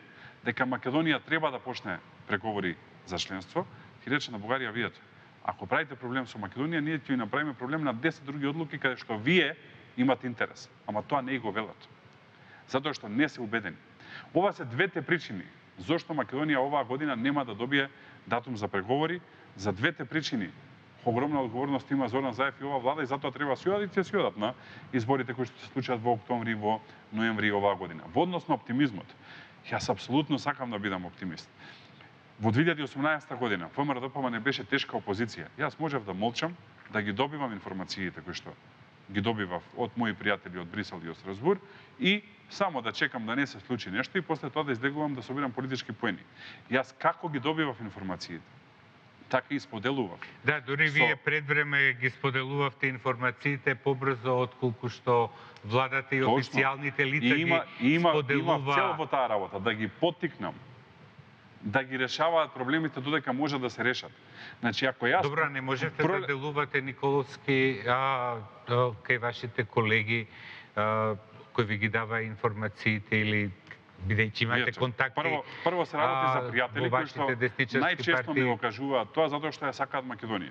дека Македонија треба да почне преговори за членство, ќе рече на Бугарија, видете, ако правите проблем со Македонија, ние ќе ви направиме проблем на 10 други одлуки каде што вие имате интерес, ама тоа не го велат. Затоа што не се убедени. Ова се двете причини зошто Македонија оваа година нема да добие датум за преговори. За двете причини огромна одговорност има Зоран Заев и оваа влада и затоа треба се одат на изборите кои што се случат во октомври и во ноември оваа година. Во однос на оптимизмот, јас апсолутно сакам да бидам оптимист. Во 2018 година ВМРО-ДПМН не беше тешка опозиција. Јас можев да молчам, да ги добивам информациите кои што ги добивав од мои пријатели од Брисел и од Страсбур и само да чекам да не се случи нешто и после тоа да излегувам да собирам политички поени. Јас како ги добивав информациите, така и споделував. Да, дури вие пред време ги споделувавте информациите побрзо отколку што владата и официјалните лица ги споделува. Има цел во таа работа, да ги поттикнам, да ги решаваат проблемите додека може да се решат. Значи, ако јас... Добро, не можете да делувате Николовски кај вашите колеги кои ви ги дава информациите или бидејќи имате контакти прво се работи за пријатели кои што најчесто ми го кажуваат тоа затоа што ја сакаат Македонија.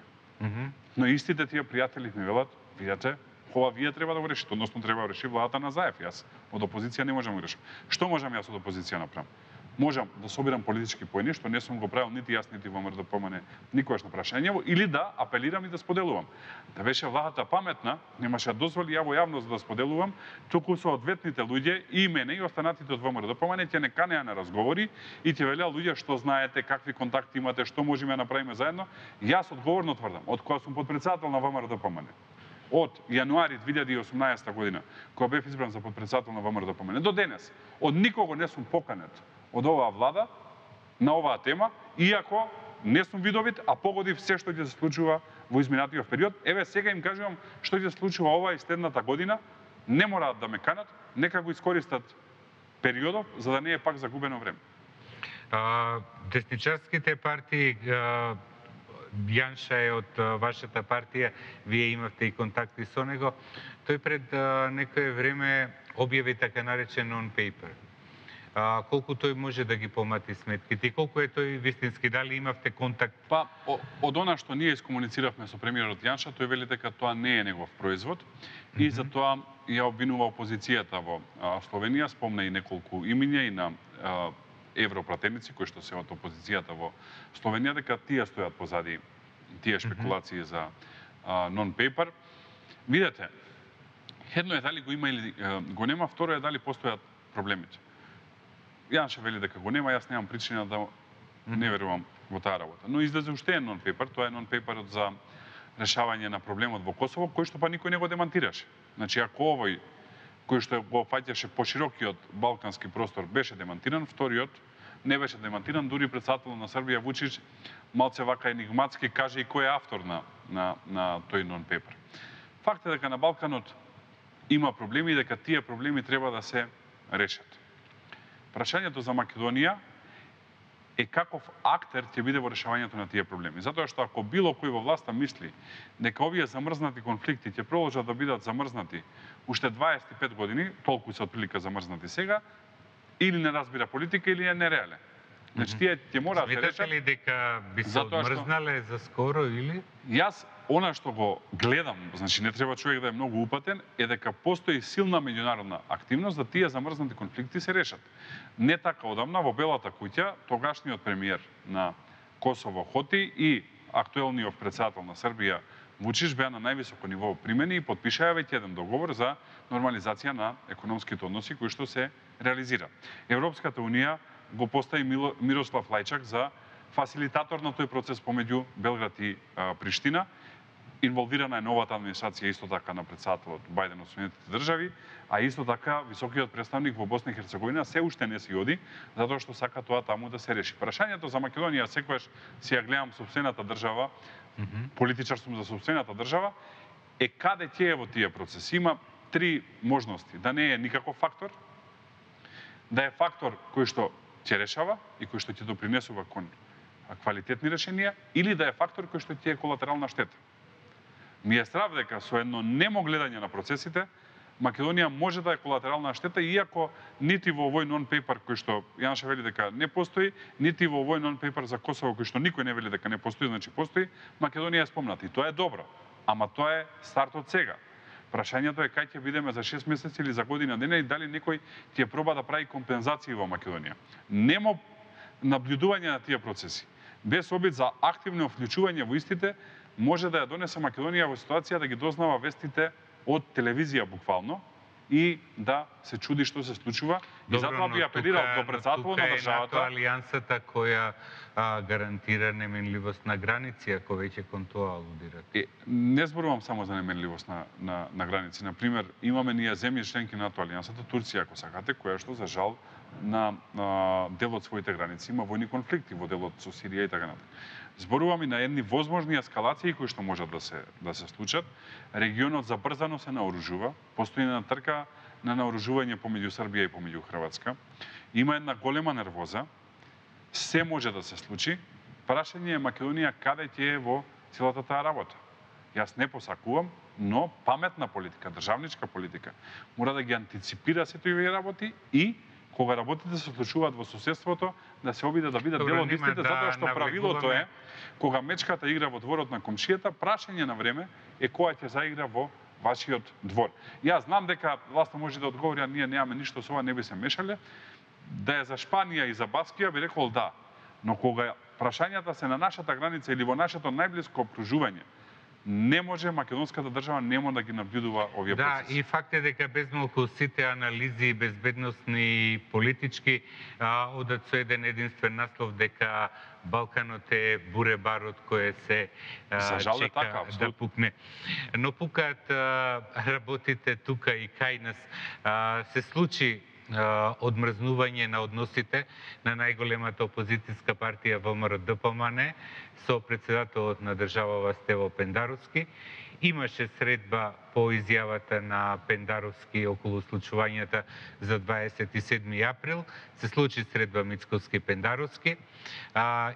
Но истите тие пријатели ми велат, видете, ова вие треба да го решите, односно треба да реши владата на Заев. Јас од опозиција не можам да го решам. Што можам јас од опозиција направам? Можам да собирам политички поени, што не сум го правил нити јас, нити ВМРО да помане никогаш на прашањево, или да апелирам и да споделувам. Да беше владата паметна, немаше да дозволи ја во јавност да споделувам, туку со одветните луѓе и мене и останатите од ВМРО да помане ќе не канеа на разговори и ќе велеа луѓе што знаете, какви контакти имате, што можеме да направиме заедно. Јас одговорно тврдам, од кога сум подпредседател на ВМРО да помане, од јануари 2018 година, кога бев избран за подпредседател на ВМРО да помане, до денес, од никого не сум поканет од оваа влада на оваа тема, иако не сум видовит, а погодив се што ќе се случува во изминатиот период. Еве сега им кажувам што ќе се случува оваа и следната година, не мораат да ме канат, нека го искористат периодов за да не е пак загубено време. Десничарските партии, Јанша е од вашата партија, вие имавте и контакти со него. Тој пред некое време објави така наречен non-paper. Колку тој може да ги помати сметките и колку е тој вистински, дали имавте контакт? Па, од она што ние искомунициравме со премиерот Јанша, тој вели дека тоа не е негов производ и затоа ја обвинува опозицијата во Словенија, спомна и неколку имиња и на европратеници кои што се од опозицијата во Словенија, дека тие стојат позади тие шпекулации за non-paper. Видете, едно е дали го има или го нема, второ е дали постојат проблемите. Јанша вели дека го нема, јас немам причина да не верувам во таа работа. Но излезе уште еден non-paper, тоа е non-paperот за решавање на проблемот во Косово, кој што па никој не го демантираше. Значи, ако овој кој што го фаќаше поширокиот балкански простор беше демантиран, вториот не беше демантиран, дури претседателот на Србија Вучич малце вака енигматски каже и кој е автор на тој non-paper. Факт е дека на Балканот има проблеми и дека тие проблеми треба да се решат. Прашањето за Македонија е каков актер ќе биде во решавањето на тие проблеми. Затоа што ако било кој во власта мисли дека овие замрзнати конфликти ќе продолжат да бидат замрзнати уште 25 години, толку се отприлика замрзнати сега, или не разбира политика или е нереален. Значи тие ќе мораат да решат. Сметате ли дека би се одмрзнале за скоро или? Јас она што го гледам, значи не треба човек да е многу упатен, е дека постои силна меѓународна активност да тие замрзнати конфликти се решат. Не така одамна во Белата куќа, тогашниот премиер на Косово Хоти и актуелниот претседател на Србија Вучич беа на највисоко ниво примени и подпишаа веќе еден договор за нормализација на економските односи кои што се реализира. Европската унија го постави Мирослав Лајчак за фасилитатор на тој процес помеѓу Белград и Приштина. Инволвирана е новата администрација исто така на претседателот Бајден од Соединетите држави, а исто така високиот представник во Босна и Херцеговина се уште не си оди, затоа што сака тоа таму да се реши. Прашањето за Македонија секогаш си ја гледам сопствената држава, политичар сум за сопствената држава, е каде ќе е во тие процеси. Има три можности: да не е никаков фактор, да е фактор кој што ќе решава и кој што ќе допринесува кон квалитетни решенија, или да е фактор кој што ќе е колатерална штета. Ми е страв дека со едно немо гледање на процесите, Македонија може да е колатерална штета, иако нити во овој non-paper кој што Јанша вели дека не постои, нити во овој non-paper за Косово кој што никој не вели дека не постои, значи постои, Македонија е спомната. И тоа е добро, ама тоа е стартот сега. Прашањето е кај ќе бидеме за 6 месеци или за година дена и дали некој ќе проба да прави компензации во Македонија. Немо наблюдување на тие процеси, без обид за активно вклучување во истите, може да ја донесе Македонија во ситуација да ги дознава вестите од телевизија буквално, и да се чуди што се случува. И затоа би апелирал до председателот на државата. Тука е алијансата која гарантира неменливост на граници, ако веќе кон тоа алудирате. Не зборувам само за неменливост на граници. Например, имаме ние земји членки на НАТО алијансата, Турција, ако сакате, која што за жал на дел од своите граници има војни конфликти во делот со Сирија и така натаму. Зборуваме на едни возможни ескалации кои што можат да се случат. Регионот забрзано се наоружува, постои една трка на наоружување помеѓу Србија и помеѓу Хрватска. Има една голема нервоза. Се може да се случи. Прашање е Македонија каде ќе е во целата таа работа. Јас не посакувам, но паметна политика, државничка политика, мора да ги антиципира сите овие работи и кога работите се случуваат во соседството, да се обиде да бидат дел од истите, затоа што правилото е, кога мечката игра во дворот на комшијата, прашање на време е која ќе заигра во вашиот двор. Јас знам дека власта може да одговори, а ние немаме ништо со ова, не би се мешале. Да е за Шпанија и за Баскија, би рекол да. Но кога прашањата се на нашата граница или во нашето најблиско окружување, не може македонската држава нема да ги наблюдува овие процеси. Да, и факт е дека безмалку сите анализи безбедносни и политички одат со еден единствен наслов дека Балканот е буребар од кој се чека да пукне. Но пукаат работите тука и кај нас. Се случи одмрзнување на односите на најголемата опозицијска партија ВМРО-ДПМН со председателот на државава Стево Пендаровски. Имаше средба по изјавата на Пендаровски околу случувањата за 27 април. Се случи средба Мицковски-Пендаровски.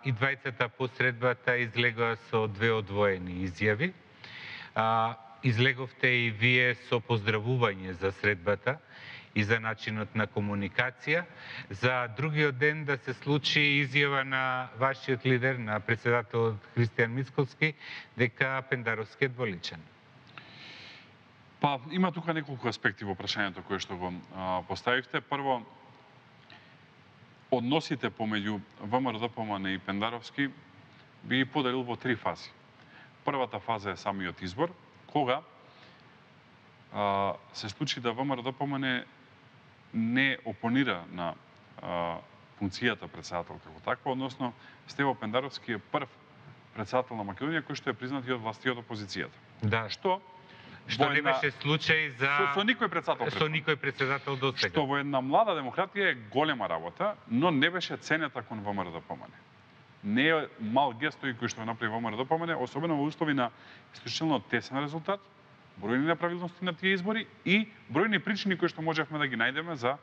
И двајцата по средбата излегоа со две одвоени изјави. Излеговте и вие со поздравување за средбата и за начинот на комуникација. За другиот ден да се случи изјава на вашиот лидер, на председателот Христијан Мицковски, дека Пендаровски е дволичен. Па, има тука неколку аспекти во прашањето кое што го поставивте. Прво, односите помеѓу ВМРО-ДПМН и Пендаровски би ги поделил во три фази. Првата фаза е самиот избор, кога се случи да ВМРО-ДПМН не опонира на функцијата председател како таква, односно Стево Пендаровски е прв председател на Македонија кој што е признат и од власти од опозицијата. Да. Што не беше случај со никој председател. Со никој председател до сега. Што во една млада демократија е голема работа, но не беше ценета кон ВМРО-ДПМН. Не е мал гест кој што го направи ВМРО-ДПМН, особено во услови на исклучително тесен резултат, бројни неправилности на тие избори и бројни причини кои што можевме да ги најдеме за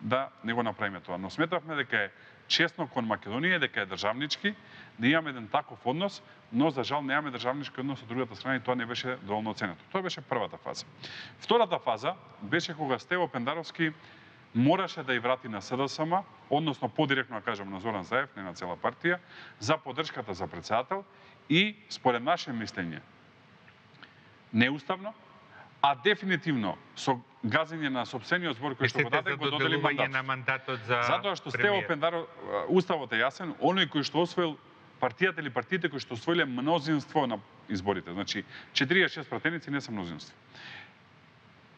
да не го направиме тоа. Но сметавме дека е честно кон Македонија, дека е државнички, да имаме еден таков однос, но за жал немаме државнички однос од другата страна и тоа не беше доволно оценето. Тоа беше првата фаза. Втората фаза беше кога Стево Пендаровски мораше да ја врати на СДСМ, односно подиректно да кажам на Зоран Заев, не на цела партија, за поддршката за председател и според наше мислење неуставно, а дефинитивно со газење на сопствениот збор кој што го даде, го додели мандатот за затоа што Стево Пендаров, уставот е јасен, оној кој што освоил партијата или партиите кои што освоиле мнозинство на изборите. Значи, 46 пратеници не се мнозинство.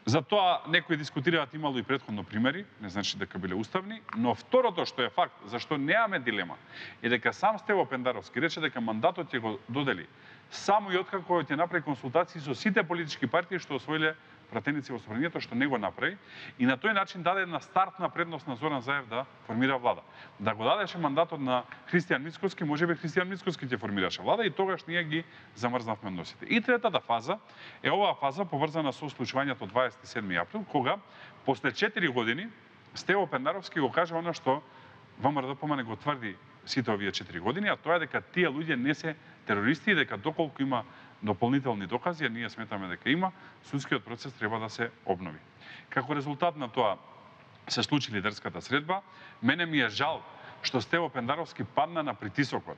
За тоа некои дискутираат, имало и претходно примери, не значи дека биле уставни, но второто што е факт, зашто немаме дилема, е дека сам Стево Пендаровски рече дека мандатот ќе го додели само и откако ќе направи консултации со сите политички партии што освоиле пратеници во собранието, што не го направи, и на тој начин даде една стартна предност на Зоран Заев да формира влада. Да го дадеше мандатот на Христијан Мицковски, можеби Христијан Мицковски ќе формираше влада и тогаш ние ги замрзнавме односите. И третата фаза е оваа фаза поврзана со случувањето 27 април, кога после 4 години Стево Пендаровски го кажа она што ВМРО-ДПМН го тврди сите овие 4 години, а тоа е дека тие луѓе не се терористи и дека доколку има дополнителни докази, а ние сметаме дека има, судскиот процес треба да се обнови. Како резултат на тоа се случи лидерската средба. Мене ми е жал што Стево Пендаровски падна на притисокот,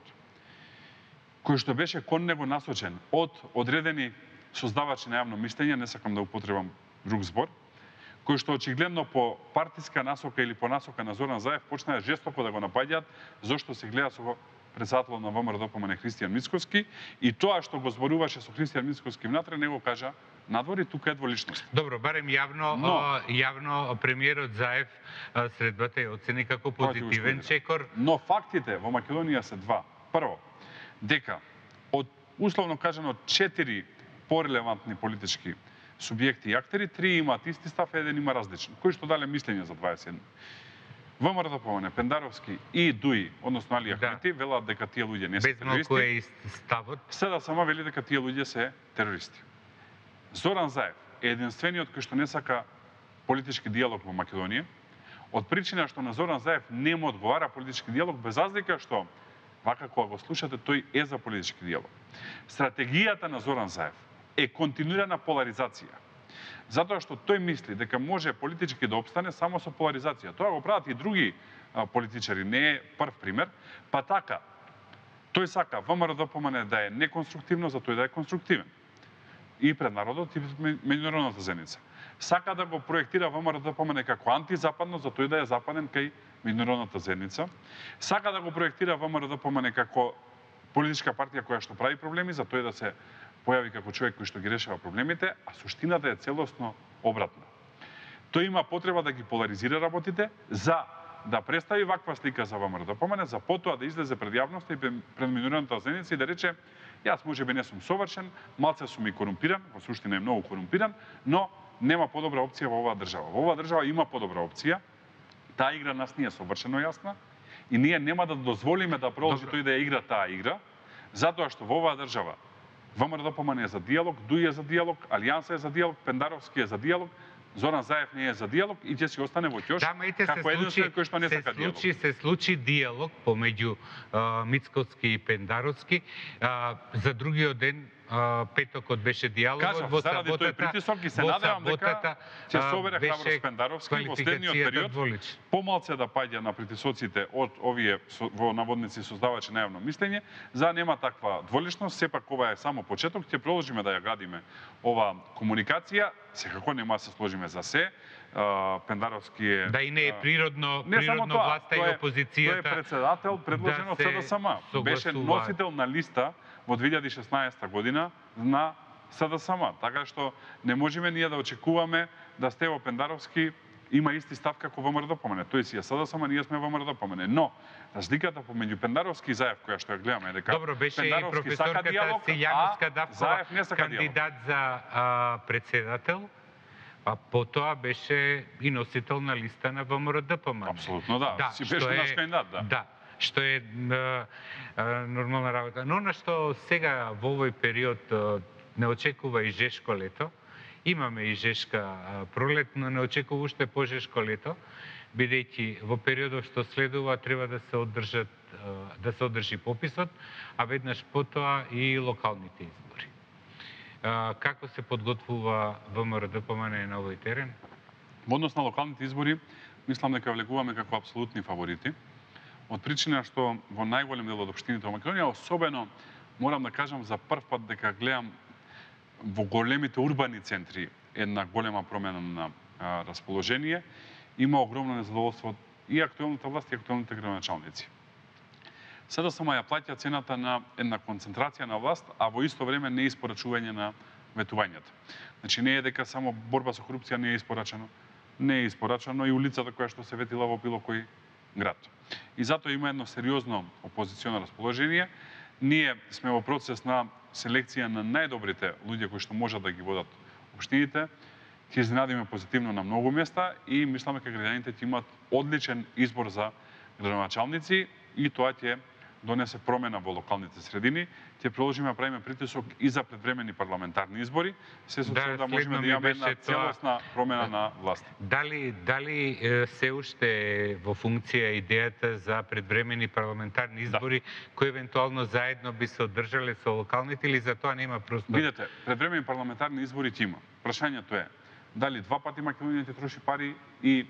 кој што беше кон него насочен од одредени создавачи на јавно мислење, не сакам да употребам друг збор, кои што очигледно по партиска насока или по насока на Зоран Заев почнаа жестоко да го напаѓаат зошто се гледа со председателот на ВМРО-ДПМН Христијан Мицковски и тоа што го зборуваше со Христијан Мицковски внатре не го кажа надвор и тука е дволичност. Добро, барем јавно премиерот Заев средбата ја оцени како позитивен чекор. Но фактите во Македонија се два. Прво, дека од условно кажано 4 порелевантни политички субјекти и актери, 3 имаат исти став, еден има различен. Кој што дале мислење за 27. ВМРО, Пендаровски и ДУИ, односно Али Ахмети, велат дека тие луѓе не се терористи. Безмалку е ставот. СДСМ вели дека тие луѓе се терористи. Зоран Заев е единствениот кој што не сака политички диалог во Македонија, од причина што на Зоран Заев не му одговара политички диалог, без разлика што, вака кога го слушате, тој е за политички диалог. Стратегијата на Зоран Заев е континуирана поларизација. Затоа што тој мисли дека може политички да обстане само со поларизација. Тоа го прават и други политичари, не е прв пример. Па така, тој сака ВМРО-ДПМН да е неконструктивно, за тој да е конструктивен. И пред народот и пред меѓународната заедница. Сака да го проектира ВМРО-ДПМН како антизападно, за тој да е западен кај меѓународната заедница. Сака да го проектира ВМРО-ДПМН како политичка партија која што прави проблеми, за тој да се појави како човек кој што ги решава проблемите, а суштината е целосно обратна. Тој има потреба да ги поларизира работите за да представи ваква слика за ВМРО-ДПМН, за потоа да излезе пред јавноста и пред меѓународната заедница и да рече: јас можеби не сум совршен, малце сум и корумпиран, во суштина е многу корумпиран, но нема подобра опција во оваа држава. Во оваа држава има подобра опција. Таа игра нас не е совршено јасна и ние нема да дозволиме да продолжи тој да ја игра таа игра, затоа што во оваа држава ВМРО-ДПМН е за диалог, ДУИ е за диалог, Алијанса е за диалог, Пендаровски е за диалог, Зоран Заев не е за диалог и ќе си остане во ќош како единствен кој што не сака диалог. Се случи диалог помеѓу Мицковски и Пендаровски. За другиот ден, петокот беше диалогот, во заради тој притисок и се надевам дека ќе собере храброст Пендаровски во следниот период помалце да паѓа на притисоците од овие во наводници создавачи на јавно мислење, за нема таква дволичност, сепак ова е само почеток, ќе продолжиме да ја градиме ова комуникација, секако нема да се сложиме за се. Пендаровски е... Да и не е природно власта и опозицијата. Тој е председател предложен од СДСМ. Беше носител на листа во 2016 година на СДСМ. Така што не можеме ние да очекуваме да Стево Пендаровски има исти став како ВМРО-ДПМН. Тој си е СДСМ, ние сме ВМРО-ДПМН. Но разликата помеѓу Пендаровски и Заев, која што ја гледаме, е дека добро, беше и Пендаровски сака диалог, а Заев не сака диалог. Кандидат за председател, а потоа беше и носител на листа на ВМРО-ДПМН. Апсолутно да. Си беше наш кандидат, да. Да, што е нормална работа. Но на што сега во овој период не очекува и жешко лето, имаме и жешка пролет, но не очекува уште пожешко лето, бидејќи во периодот што следува треба да се одржи пописот, а веднаш потоа и локалните избори. Како се подготвува ВМРО-ДПМН на овој терен? Во однос на локалните избори, мислам дека влегуваме како апсолутни фаворити, од причина што во најголем дел од општините во Македонија, особено морам да кажам за прв пат дека гледам во големите урбани центри една голема промена на расположение, има огромно незадоволство и актуелната власт и актуелните градоначалници. СДСМ ја плаќа цената на една концентрација на власт, а во исто време не испорачување на ветувањата. Значи не е дека само борба со корупција не е испорачено, не е испорачено и улицата која што се ветила во било кој град. И затоа има едно сериозно опозиционо расположение. Ние сме во процес на селекција на најдобрите луѓе кои што можат да ги водат општините. Ќе изненадиме позитивно на многу места и мисламе дека граѓаните ќе имаат одличен избор за градоначалници и тоа ќе донесе промена во локалните средини. Ќе продолжиме да правиме притисок и за предвремени парламентарни избори, се со цел да можеме да имаме една целосна промена на власт. Дали се уште во функција идејата за предвремени парламентарни избори, кои евентуално заедно би се одржале со локалните или за тоа нема простор? Видете, предвремени парламентарни избори ќе има. Прашањето е дали два пати Македонија ќе троши пари и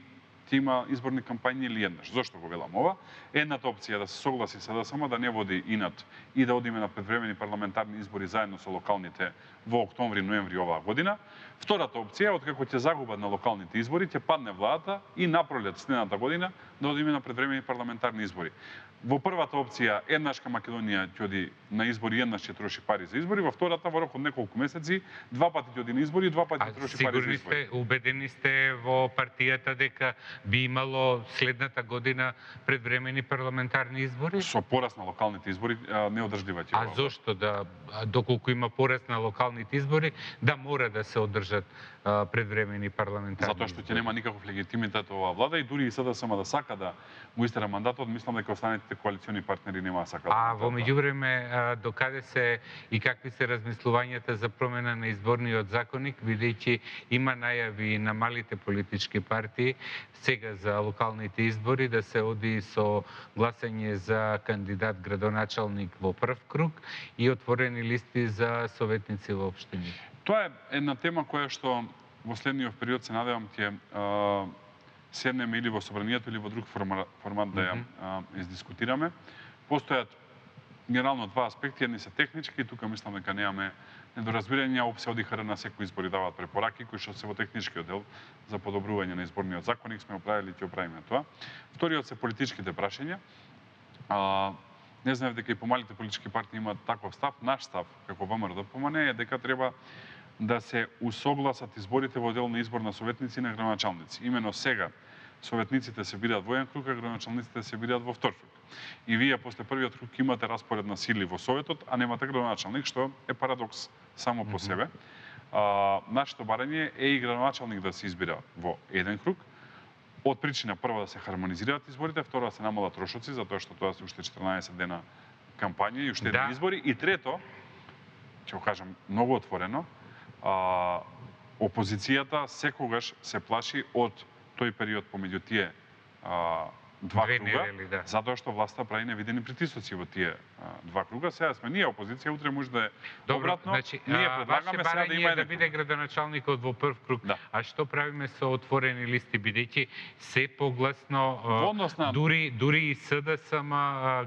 ќе има изборни кампањи или еднаш. Зошто го велам ова? Едната опција е да се согласи СДСМ да не води инат и да одиме на предвремени парламентарни избори заедно со локалните во октомври, ноември оваа година. Втората опција е откако ќе загубат на локалните избори, ќе падне владата и напролет следната година да одиме на предвремени парламентарни избори. Во првата опција, еднашка Македонија ќе оди на избори, еднаш ќе троши пари за избори, во втората, во рок од неколку месеци, два пати ќе оди на избори, два пати ќе троши пари за избори. Убедени сте во партијата дека би имало следната година предвремени парламентарни избори? Со пораст на локалните избори неодржлива ќе А зошто доколку има пораст на локалните избори, да мора да се одржат предвремени парламентарни избори? Затоа што ќе нема никаков легитимитет оваа влада и дури и СДСМ да сака да му истера мандатот, мислам дека останатите коалициони партнери нема да сакаат. А во меѓувреме докаде се и какви се размислувањата за промена на изборниот законник, бидејќи има најави на малите политички партии сега за локалните избори да се оди со гласање за кандидат градоначалник во прв круг и отворени листи за советници во општини. Тоа е една тема која што во следниот период се надевам ќе седнеме или во собранието или во друг формат да ја издискутираме. Постојат генерално два аспекти, едни се технички, тука мислам дека немаме недоразбирање, ОПС ОДИХР на секој избори даваат препораки кои што се во техничкиот дел за подобрување на изборниот законник, сме оправили и ќе оправиме тоа. Вториот се политичките прашања. Не знаев дека и помалите политички партии имаат таков став. Наш став, како ВМРО-ДПМН, е дека треба да се усогласат изборите во дел на избор на советници и на градоначалници. Имено сега советниците се бираат во еден круг, а градоначалниците се бираат во втор круг. И вие после првиот круг имате распоред на сили во советот, а немате градоначалник, што е парадокс само по себе. Нашето барање е и градоначалник да се избира во еден круг, од причина прва да се хармонизираат изборите, второ да се намалат трошоци, затоа што тоа се уште 14 дена кампања и уште едни избори, и трето, ќе го кажам многу отворено, опозицијата секогаш се плаши од тој период помеѓу тие два круга, затоа што власта прави невидени притисоци во тие два круга. Сега сме ние опозиција, утре може да е обратно. Значи, ние предлагаме сега да има да биде градоначалникот во прв круг. Да. А што правиме со отворени листи, бидејќи се погласно дури и СДСМ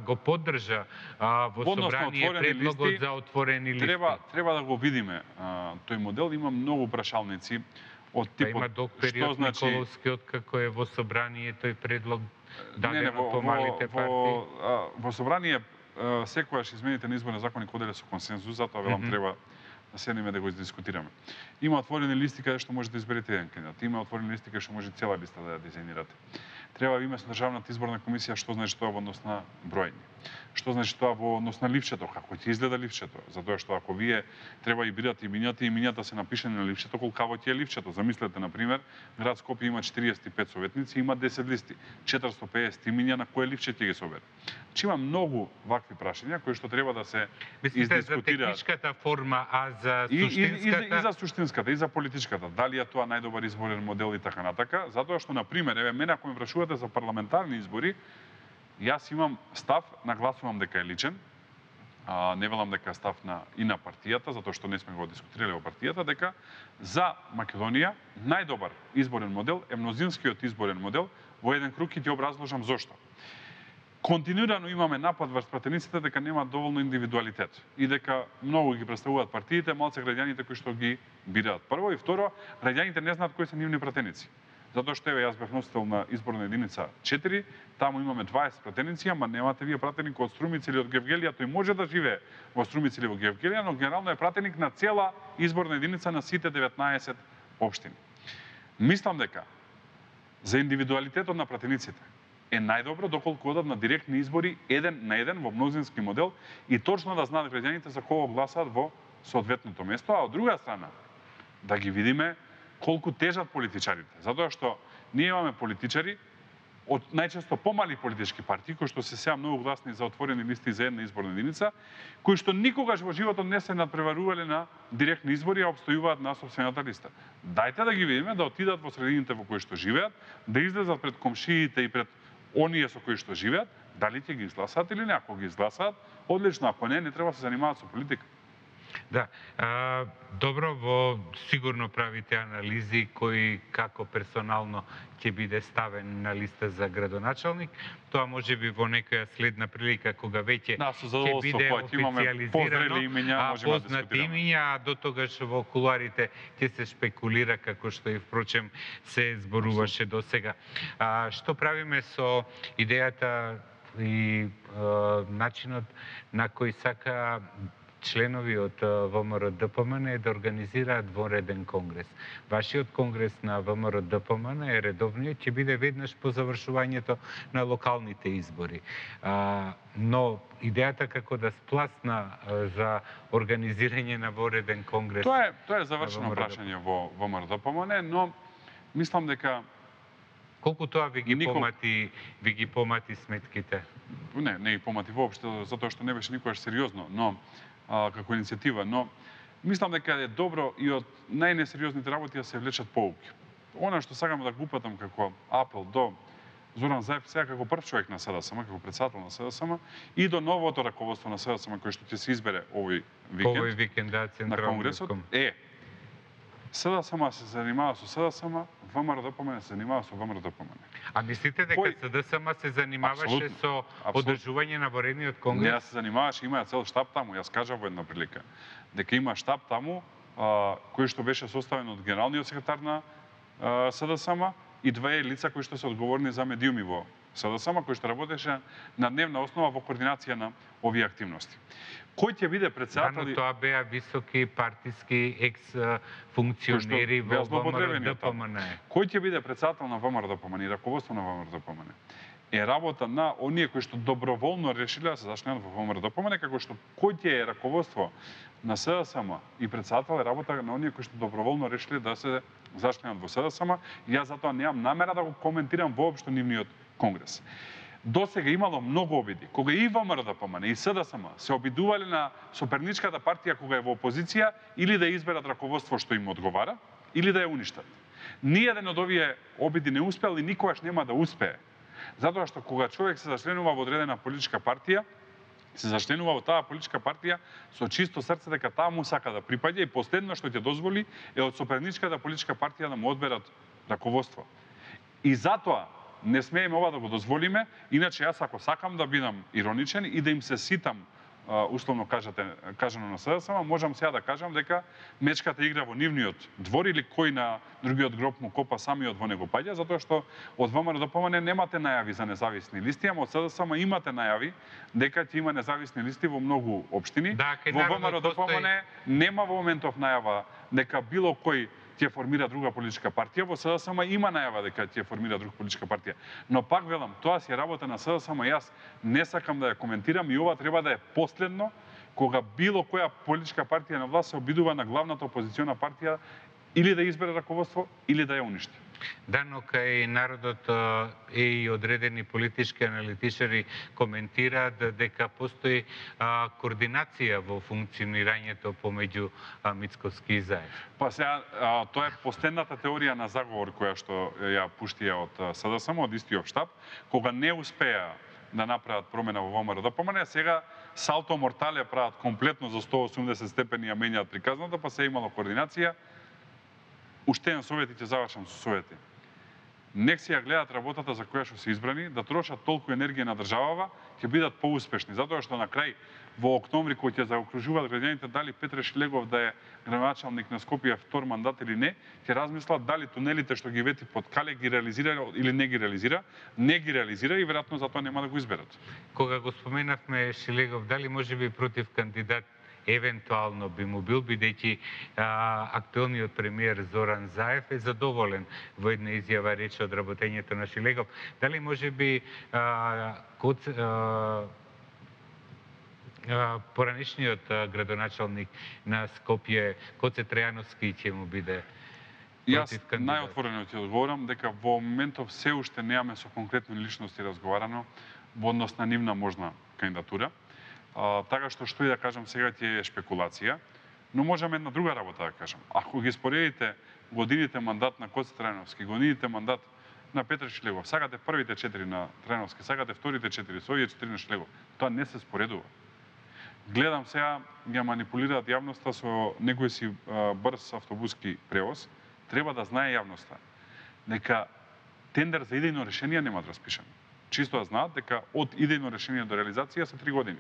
го поддржа во собрание предлогот за отворени листи. Треба да го видиме тој модел, има многу прашалници од типот има долг период Николовскиот како е во собрание тој предлог даден од помалите партии. Во собрание секогаш измените на изборен законник оделе со консензус, затоа велам треба да седнеме да го издискутираме. Има отворени листи каде што може да изберете еден кандидат, има отворени листи каде што може цела листа да ја дизајнирате. Треба да има со Државната изборна комисија што значи тоа во однос на броење. Што значи тоа во однос на ливчето, како ќе изгледа ливчето, затоа што ако вие треба и бирате имињата се напишани на ливчето, колкаво ќе е ливчето. Замислете на пример, град Скопје има 45 советници, има 10 листи, 450 имиња на кое ливче ќе ги собере. Значи има многу вакви прашања кои што треба да се издискутираат. За техничката форма, а за суштинската? И за суштинската, и за политичката. Дали е тоа најдобар изборен модел и така натака, затоа што на пример, еве мене ако ме прашувате за парламентарни избори, јас имам став, нагласувам дека е личен, не велам дека е став и на партијата, затоа што не сме го дискутирале во партијата, дека за Македонија најдобар изборен модел е мнозинскиот изборен модел во еден круг и ќе образложам зошто. Континуирано имаме напад врз пратениците дека нема доволно индивидуалитет и дека многу ги представуваат партиите, малце граѓаните кои што ги бираат. Прво и второ, граѓаните не знаат кои се нивни пратеници. Затоа што еве јас бев носител на изборна единица 4, таму имаме 20 пратеници, ама немате вие пратеник од Струмица или од Гевгелија, тој може да живее во Струмица или во Гевгелија, но генерално е пратеник на цела изборна единица на сите 19 општини. Мислам дека за индивидуалитетот на пратениците е најдобро доколку одат на директни избори еден на еден во мнозински модел и точно да знаат граѓаните за кого гласаат во соодветното место, а од друга страна да ги видиме колку тежат политичарите, затоа што ние имаме политичари од најчесто помали политички партии кои што се сега многу гласни за отворени листи за една изборна единица, кои што никогаш во животот не се надпреварувале на директни избори, а обстојуваат на сопствената листа. Дајте да ги видиме, да отидат во средините во кои што живеат, да излезат пред комшиите и пред оние со кои што живеат, дали ќе ги изгласаат или не. Ако ги изгласаат, одлично, ако не, не треба да се занимаваат со политика. Да, добро, во сигурно правите анализи кој како персонално ќе биде ставен на листа за градоначалник. Тоа може би во некоја следна прилика кога веќе Да, со ќе задоволство, биде кога ќе имаме позрели официјализирано, имиња, можеме да познати дискутираме. имиња, а до тогаш во кулуарите ќе се шпекулира како што и впрочем се зборуваше досега. Што правиме со идејата и начинот на кој сака членови од ВМРО-ДПМН е да организираат вореден конгрес. Вашиот конгрес на ВМРО-ДПМН е редовниот, ќе биде веднаш по завршувањето на локалните избори. Но идејата како да спласна за организирање на вореден конгрес... Тоа е завршено прашање во ВМРО-ДПМН, но мислам дека колку тоа ви ги помати сметките? Не ги помати воопшто, затоа што не беше никогаш сериозно, но како иницијатива, но мислам дека е добро и од најнесериозните работи да се влечат поуки. Она што сакам да го упатам како апел до Зоран Заев, сега како прв човек на СДСМ, како председател на СДСМ, и до новото раководство на СДСМ кој што ќе се избере овој викенд на конгресот, СДСМ се занимава со СДСМ, ВМРО-ДПМН се занимава со ВМРО-ДПМН. А мислите дека СДСМ се занимаваше со одржување на воредниот конгрес? Не, се занимаваше, има цел штаб таму. Јас кажав во една прилика дека има штаб таму кој што беше составен од генералниот секретар на СДСМ и две лица кои што се одговорни за медиуми во СДСМ, кој што работеше на дневна основа во координација на овие активности. Кој ќе биде председател? Да, но тоа беа високи партиски екс-функционери во ВМРО-ДПМН. Кој ќе биде председател на ВМРО-ДПМН и раководство на ВМРО-ДПМН? Е работа на оние кои што доброволно решиле да се зачленат во ВМРО-ДПМН, како што кој ќе е раководство на СДСМ и председател е работа на оние кои што доброволно решиле да се зачленат во СДСМ. Јас затоа немам намера да го коментирам воопшто нивниот конгрес. Досега имало многу обиди. Кога и ВМРО-ДПМН и СДСМ се обидувале на соперничката партија кога е во опозиција или да изберат раководство што им одговара, или да ја уништат. Ниеден од овие обиди не успел и никогаш нема да успее. Затоа што кога човек се зачленува во одредена политичка партија, се зачленува во таа политичка партија со чисто срце дека таа му сака да припаѓа и последно што ќе дозволи е од соперничката политичка партија да му одберат раководство. И затоа не смееме ова да го дозволиме, иначе јас ако сакам да бидам ироничен и да им се ситам, условно кажано на СДСМ, можам сега да кажам дека мечката игра во нивниот двор или кој на другиот гроб му копа самиот во него паѓа, затоа што од ВМРО-ДПМН немате најави за независни листи, ама од СДСМ имате најави дека ќе има независни листи во многу општини. Да, во ВМРО-ДПМН нема во моментов најава дека било кој ќе формира друга политичка партија, во СДСМ има најава дека ќе формира друга политичка партија. Но пак велам, тоа си е работа на СДСМ, јас не сакам да ја коментирам и ова треба да е последно кога било која политичка партија на власт се обидува на главната опозициона партија или да избере раководство или да ја уништи. Да, но кај народот и одредени политички аналитичари коментираат дека постои координација во функционирањето помеѓу Мицковски и Заев. Па сега, тоа е последната теорија на заговор која што ја пуштија од СДСМ, од истиот штаб, кога не успеа да направат промена во ВМРО-ДПМН, сега салто мортале прават комплетно за 180 степени ја менјаат приказната, па се имало координација. Уште еден совет и ќе завршам со совети. Нек си ја гледат работата за која што се избрани, да трошат толку енергија на државава, ќе бидат поуспешни, затоа што на крај во октомври кој ќе заокружуваат граѓаните дали Петре Шлегов да е градоначалник на Скопје втор мандат или не, ќе размислат дали тунелите што ги вети под Кале ги реализира или не ги реализира, и веројатно затоа нема да го изберат. Кога го споменавме Шлегов, дали можеби против кандидат евентуално би му бил, бидејќи актуелниот премиер Зоран Заев е задоволен во една изјава рече од работењето на Шлегов. Дали можеби поранешниот градоначалник на Скопје, Коце Трајановски, ќе му биде против кандидат? Јас најотворено ќе одговорам дека во моментов се уште немаме со конкретни личности разговарано во однос на нивна можна кандидатура. Така што и да кажам сега ќе е шпекулација, но можеме една друга работа да кажам. Ако ги споредите годините мандат на Коце Трајановски, годините мандат на Петре Шлегов, сакате првите 4 на Трајановски, сакате вторите 4, со овие 4 на Шлегов, тоа не се споредува. Гледам сега, ја манипулираат јавноста со некој си брз автобуски превоз. Треба да знае јавноста дека тендер за идејно решение нема да распишан. Чисто да знаат дека од идејно решение до реализација се 3 години.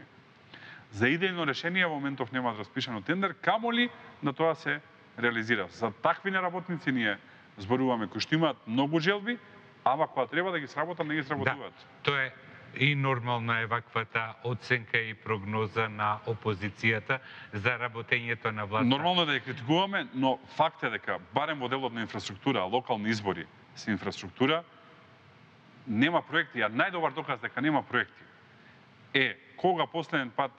За идејно решение во моментов нема да распишано тендер, камоли да тоа се реализира. За такви неработници ние зборуваме кои што имаат многу желби, ама кога треба да ги сработат, не ги сработуваат. Да, тоа е и нормално е ваквата оценка и прогноза на опозицијата за работењето на власта. Нормално е да ја критикуваме, но факт е дека барем во делот на инфраструктура, локални избори се инфраструктура, нема проекти, а најдобар доказ дека нема проекти е кога последен пат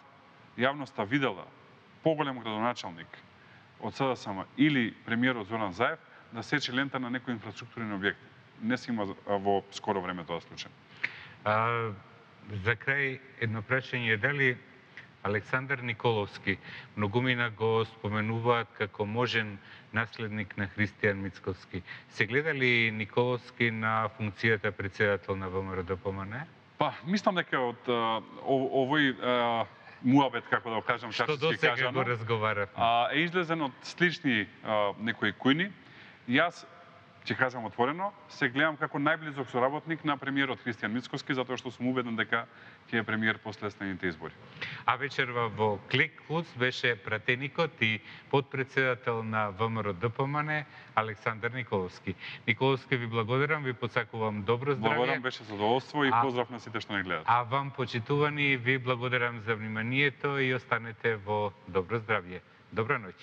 јавноста видела поголем градоначалник од СДСМ или премиерот Зоран Заев да сече лента на некој инфраструктурен објект. Не се има во скоро време тоа случај. За крај едно прашање, дали Александар Николовски, многумина го споменуваат како можен наследник на Христијан Мицковски. Се гледа ли Николовски на функцијата председател на ВМРО-ДПМН? Па, мислам дека од овој муабет, како да го кажам, што досега го разговарав, е излезен од слични некои кујни. Јас ќе кажам отворено, се гледам како најблизок соработник на премиерот Христијан Мицковски, затоа што сум убеден дека ќе е премиер после следните избори. А вечерва во Клик Плюс беше пратеникот и подпредседател на ВМРО-ДПМН Александар Николовски. Николовски, ви благодарам, ви посакувам добро здравје. Благодарам, беше задоволство и поздрав на сите што не гледаат. А вам, почитувани, ви благодарам за вниманието и останете во добро здравје. Добра ноќ.